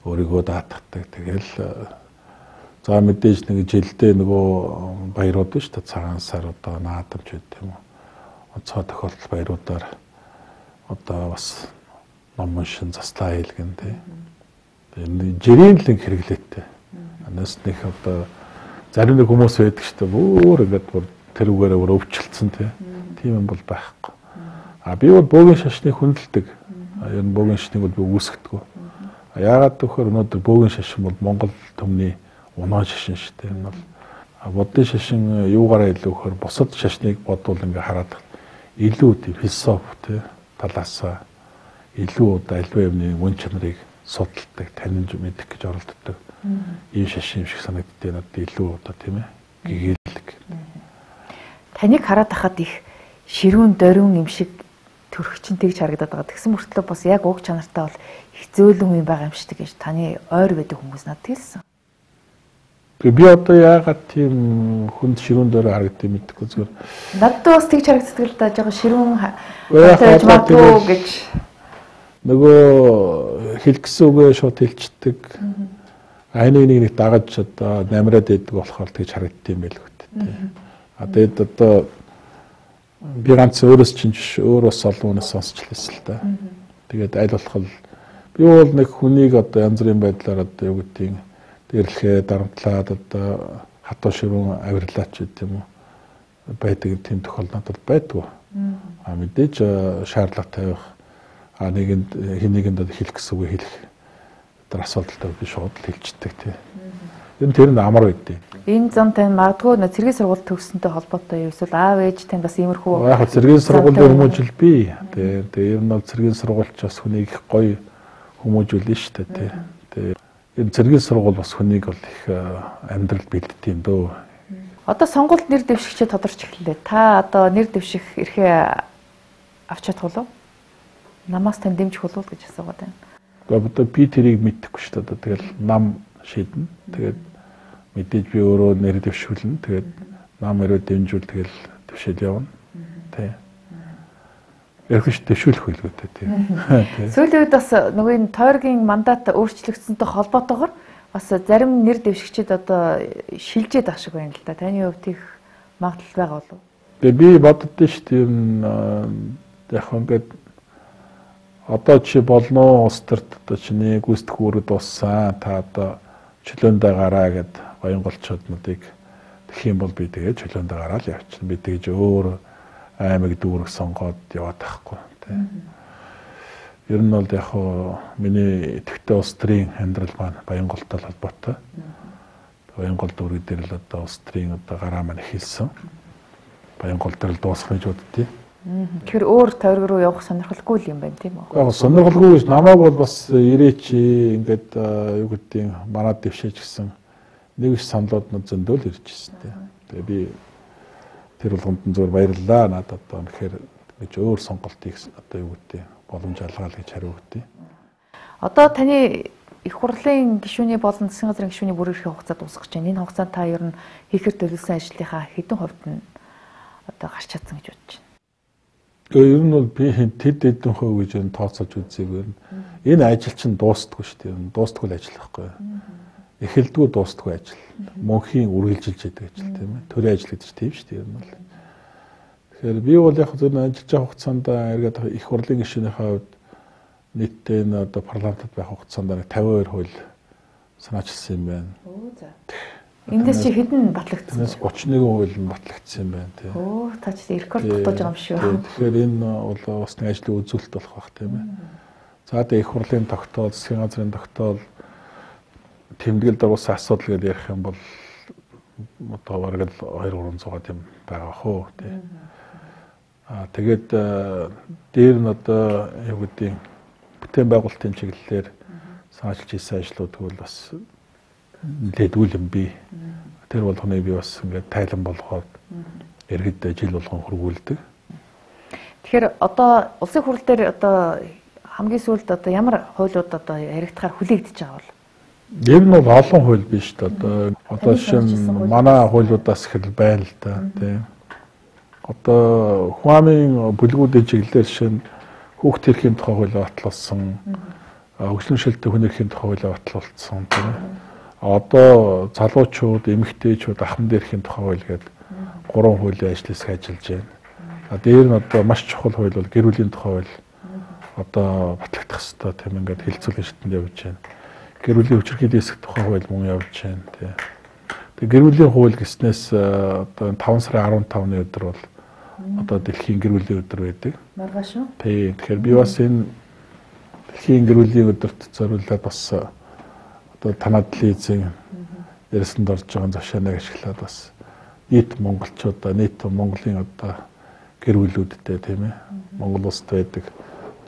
Өөрийгөө даатгадаг. Тэгэл за мэдээж нэг жилдээ нөгөө баярууд шүү дээ цагаан сар одоо наадамж гэдэг юм уу. Онцгой тохиолдол баяруудаар одоо бас ном уншин заслаа хийлгэн тий. Энэ жирийн л хэрэглээтэй. Анаас нэг одоо зарим нэг хүмүүс байдаг шүү дээ. Өөр ингээд бүр тэр үгээрээ бүр өвчлцэн тий. Тийм юм бол байхгүй. Би бол бөөгийн шашныг хүндэлдэг. Ер нь бөөгийн шашныг бол би үүсгэдэг. Яагаад гэвэл өнөөдөр бөөгийн шашин бол Монгол төмний унаа шашин шүү дээ. Энэ бол буддын шашин юугаараа илүү гэхээр бусад шашныг бодвол ингээ хараад илүү тийм философи талаасаа илүү одоо альва юмны үн чанарыг судалдаг, таньж мэдэх гэж оролддог. Ийм шашин юм шиг санагддаг надад илүү одоо тийм ээ гэгээлэг. Таныг хараад хахад их ширүүн дөрвөн юм шиг төрөгчин тэгж харагдаад байгаа. Тэгсэн мөртлөө бас яг уг чанартай бол их зөөлөн юм байгаа юм шиг гэж таны ойр байдаг хүмүүс надад хэлсэн. Би одоо яагаад тийм хүнд ширүүн дээр харагддаг мэдэхгүй зүгээр. Надад бас тэгж харагддаг л да. Жага ширүүн байж магадгүй гэж. Нөгөө хэлгсэн үгээ шууд хэлчихдэг. Айны нэг дагаж одоо намраад байдаг болохоор тэгж харагддаг юм байл хөттэй. Тэгээд одоо би ганц өөрөөс чинь өөр бас олон хүнээс сонсч лээсэн л да. Тэгээд аль болох би бол нэг хүнийг одоо янз бүрийн байдлаар одоо юу гэдгийг дэрлэхээ дарамтлаад одоо хатуу ширүүн авирлаач гэдэг юм уу байдаг тийм тохиолдолд байдгүй. Мэдээж шаардлага тавих нэгэнд хэнийг хэлэх гэсэн үг хэлэх тэр асуудалтай би шууд хэлцдэг тий. Тэр нь амар байдیں۔ Энэ зам тань магадгүй цэргийн сургууль төгссөнтэй холбоотой юу эсвэл аав ээж тань бас иймэрхүү яг цэргийн сургуулийн хүмүүжил би. Тэгээ ер нь бол цэргийн сургуульч бас хүнийг их гоё хүмүүжүүлнэ шүү дээ тий. Энэ цэргийн сургууль бас хүнийг бол их амьдрал бэлддэг юм дөө. Одоо сонгуульд нэр дэвшигчээ тодорч эхэллээ. Та одоо нэр дэвших эрхээ авч чадах уу? Намаас тань дэмжих болов гэж асуугаад байна. Одоо би тэрийг мэдэхгүй шүү дээ. Тэгэл нам шийднэ. Тэгээд мэдээж би өөрөө нэр дэвшүүлнэ. Тэгээд нам өрөө дэмжүүл тэгэл дэвшил явна. Тэ. Ярих дэвшүүлэх байлгүй тий. Сүүлийн үед бас нөгөө энэ тойргийн мандат өөрчлөгдсөнтэй холбоотойгоор бас зарим нэр дэвшигчид одоо шилжээд ах шиг байна л да. Таны хувьд их магадлал байгаа болов уу? Тэгээ би боддоо шүү дээ яг ингээд одоо чи болно улс төрт одоо чиний гүйцэтгэх үүрэг дууссан та одоо чөлөөндөө гараа гэд Баянголчууднуудыг тэгэх юм бол би тэгээ чөлөөндөө гараа л явчихна. Би тэгж өөр аймаг дүүрэг сонгоод яваад тахгүй тийм. Ер нь бол яг хоо миний идэвхтэй улс төрийн амьдрал маань Баянголтой холбоотой. Баянгол дүүрэг дээр л одоо улс төрийн одоо гараа маань эхэлсэн. Баянгол дээр л дуусах гэж боддتي. Тэгэхээр өөр тойрог руу явах сонирхолгүй юм байна тийм үү? Яг сонирхолгүй биш. Намайг бол бас ирээч ингээд юу гэдгийг манад дэвшээж гисэн нэг их саналууд зөндөөл ирж ирсэн тийм. Тэгээ би тэр болгонд нь зөвөр баярлалаа. Надад одоо тэгэхээр гэж өөр сонголт хийх одоо юу гэдэг боломж алгаал гэж хариу өгдөө. Одоо таны их хурлын гишүүний болон засгийн газрын гишүүний бүр эрхээ хугацаа дуусгаж байна. Энэ хугацаанд та ер нь хийхээр төлөвлөсөн ажлынхаа хэдэн хувьд нь одоо гарч чадсан гэж бодож байна? Ер нь бол би тэд хэдэн хувь гэж тооцоож үзээгүй. Энэ ажил чинь дуустдаггүй шүү дээ. Дуустдаггүй ажил байхгүй. Эхэлдэггүй дуустдаггүй ажил. Мөнхийн үргэлжилж яадаг ажил тийм ээ. Төрийн ажил гэдэг чинь тийм шүү дээ. Ер нь бол. Тэгэхээр би бол яг зөв ажиллаж байгаа хугацаанд эргээд их хурлын гишүүнийхээ хувьд нийтдээ энэ одоо парламентод байх хугацаанд 52 хууль санаачилсан юм байна. Оо за. Эндээс чи хэдэн батлагдсан? Эндээс 31 хууль нь батлагдсан юм байна тийм. Оо та чи рекорд тогтоож байгаа юм шүү. Тэгэхээр энэ бол бас нэг ажлын үзүүлэлт болох байх тийм ээ. За тэгээ их хурлын тогтоол, засгийн газрын тогтоол тэмдэглэл дагуулсан асуудал гэж ярих юм бол одоо бараг л 2-300 тийм байгаа хөө тийм. Тэгээд дээр нь одоо юу гэдэг бүтээн байгуулалтын чиглэлээр санаачилж хийсэн ажлууд тэгвэл бас нэлээд үл юм би. Тэр болгоныг би бас ингээд тайлан болгоод иргэд жил болгон хөргүүлдэг. Тэгэхээр одоо улсын хурал дээр одоо хамгийн сүүлд одоо ямар хуулиуд одоо яригдахаар хүлээгдэж байгаа бол? Ер нь бол олон хууль биш дээ. Одоо жишээ нь манай хуулиудаас ихэл байна л да тийм. Одоо хүн амын бүлгүүдийн чиглэлээр жишээ нь хүүхд эрхийн тухай хууль батлуулсан, хөгжлөмшөлтөй хүн эрхийн тухай хууль батлуулсан тийм. Одоо залуучууд, эмэгтэйчүүд ахмад эрхийн тухай хууль гэдэг 3 хуулийн ажлыг ажиллаж байна. Дээр нь одоо маш чухал хууль бол гэр бүлийн тухай хууль одоо батлагдах хэрэгтэй тийм ингээд хилцүүлэн шатнд явж байна. Гэр бүлийн хүчирхийллийн эсэх тухай хууль мөн явж байна тийм. Тэгээ гэр бүлийн хууль гэснээс одоо 5 сарын 15-ны өдөр бол одоо дэлхийн гэр бүлийн өдөр байдаг. Маргааш шүү. Тийм. Тэгэхээр би бас энэ дэлхийн гэр бүлийн өдөрт зориулаад бас одоо танад телевизийн ярьсанд орж байгаа завшааныг ашиглаад бас нийт монголчуудаа, нийт Монголын одоо гэр бүлүүдтэй тийм ээ. Монгол улсад байдаг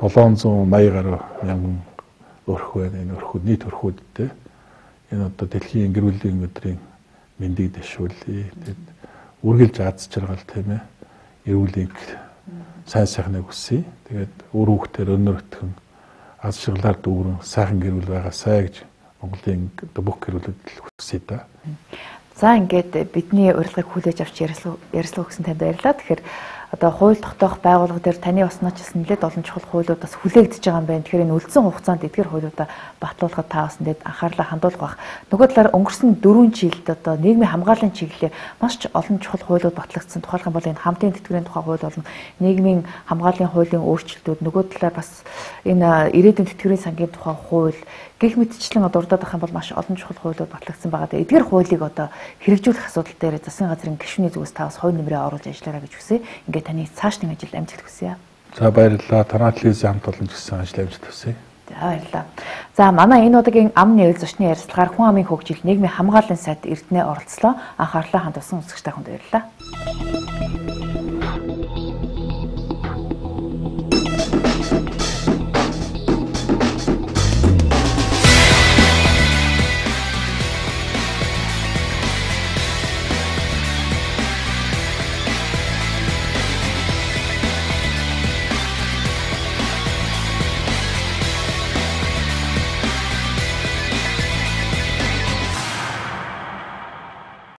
780 гаруй мянган өрх байна. Энэ өрхүүд нийт өрхүүдтэй энэ одоо дэлхийн гэр бүлийн өдрийн мэндийг дэвшүүлье. Тэгээд үргэлж аз жаргал тийм ээ. Эрүүлийг сайн сайхныг хүсье. Тэгээд өөр хүүхдээр өнөр өтгөн аз жаргалаар дүүрэн сайхан гэр бүл байгаасай гэж Монголын бүх гэр бүлүүд хүсье да. За ингээд бидний урилгыг хүлээж авч ярилцлага өгсөн танд баярлалаа. Тэгэхээр одоо хууль тогтоох байгууллага дээр таны осноочлсон нэлээд олон чухал хуулиуд бас хүлээгдэж байгаа юм байна. Тэгэхээр энэ үлдсэн хугацаанд эдгээр хуулиудаа батлуулахад та бас нэгэд анхаарлаа хандуулах бах. Нөгөө талаар өнгөрсөн 4 жилд одоо нийгмийн хамгааллын чиглэлээр маш олон чухал хуулиуд батлагдсан. Тухайлх юм бол энэ хамтын тэтгэврийн тухай хууль болон нийгмийн хамгааллын хуулийн өөрчлөлтүүд нөгөө талаар бас энэ ирээдүйн тэтгэврийн сангийн тухай хууль гэх мэтчлэн дурдаад ах юм бол маш олон чухал хуулиуд батлагдсан байгаа. Эдгээр хуулийг одоо хэрэгжүүлэх асуудал дээр засгийн газрын гишүүний зүгээс та бас хувь нэмрээ оруулж ажиллаарай гэж хүсье. Ингээд таны цаашдын ажил амжилт хүсье. За баярлалаа. Танай телевизийн хамт олон гэсэн ажил амжилт хүсье. За баярлалаа. За манай энэ удаагийн ам нээл зочны ярилцлагаар хүн амын хөгжил нийгмийн хамгааллын сайд Эрдэнэ оролцлоо. Анхаарлаа хандуулсан үзэгчтэй хүнд баярлалаа.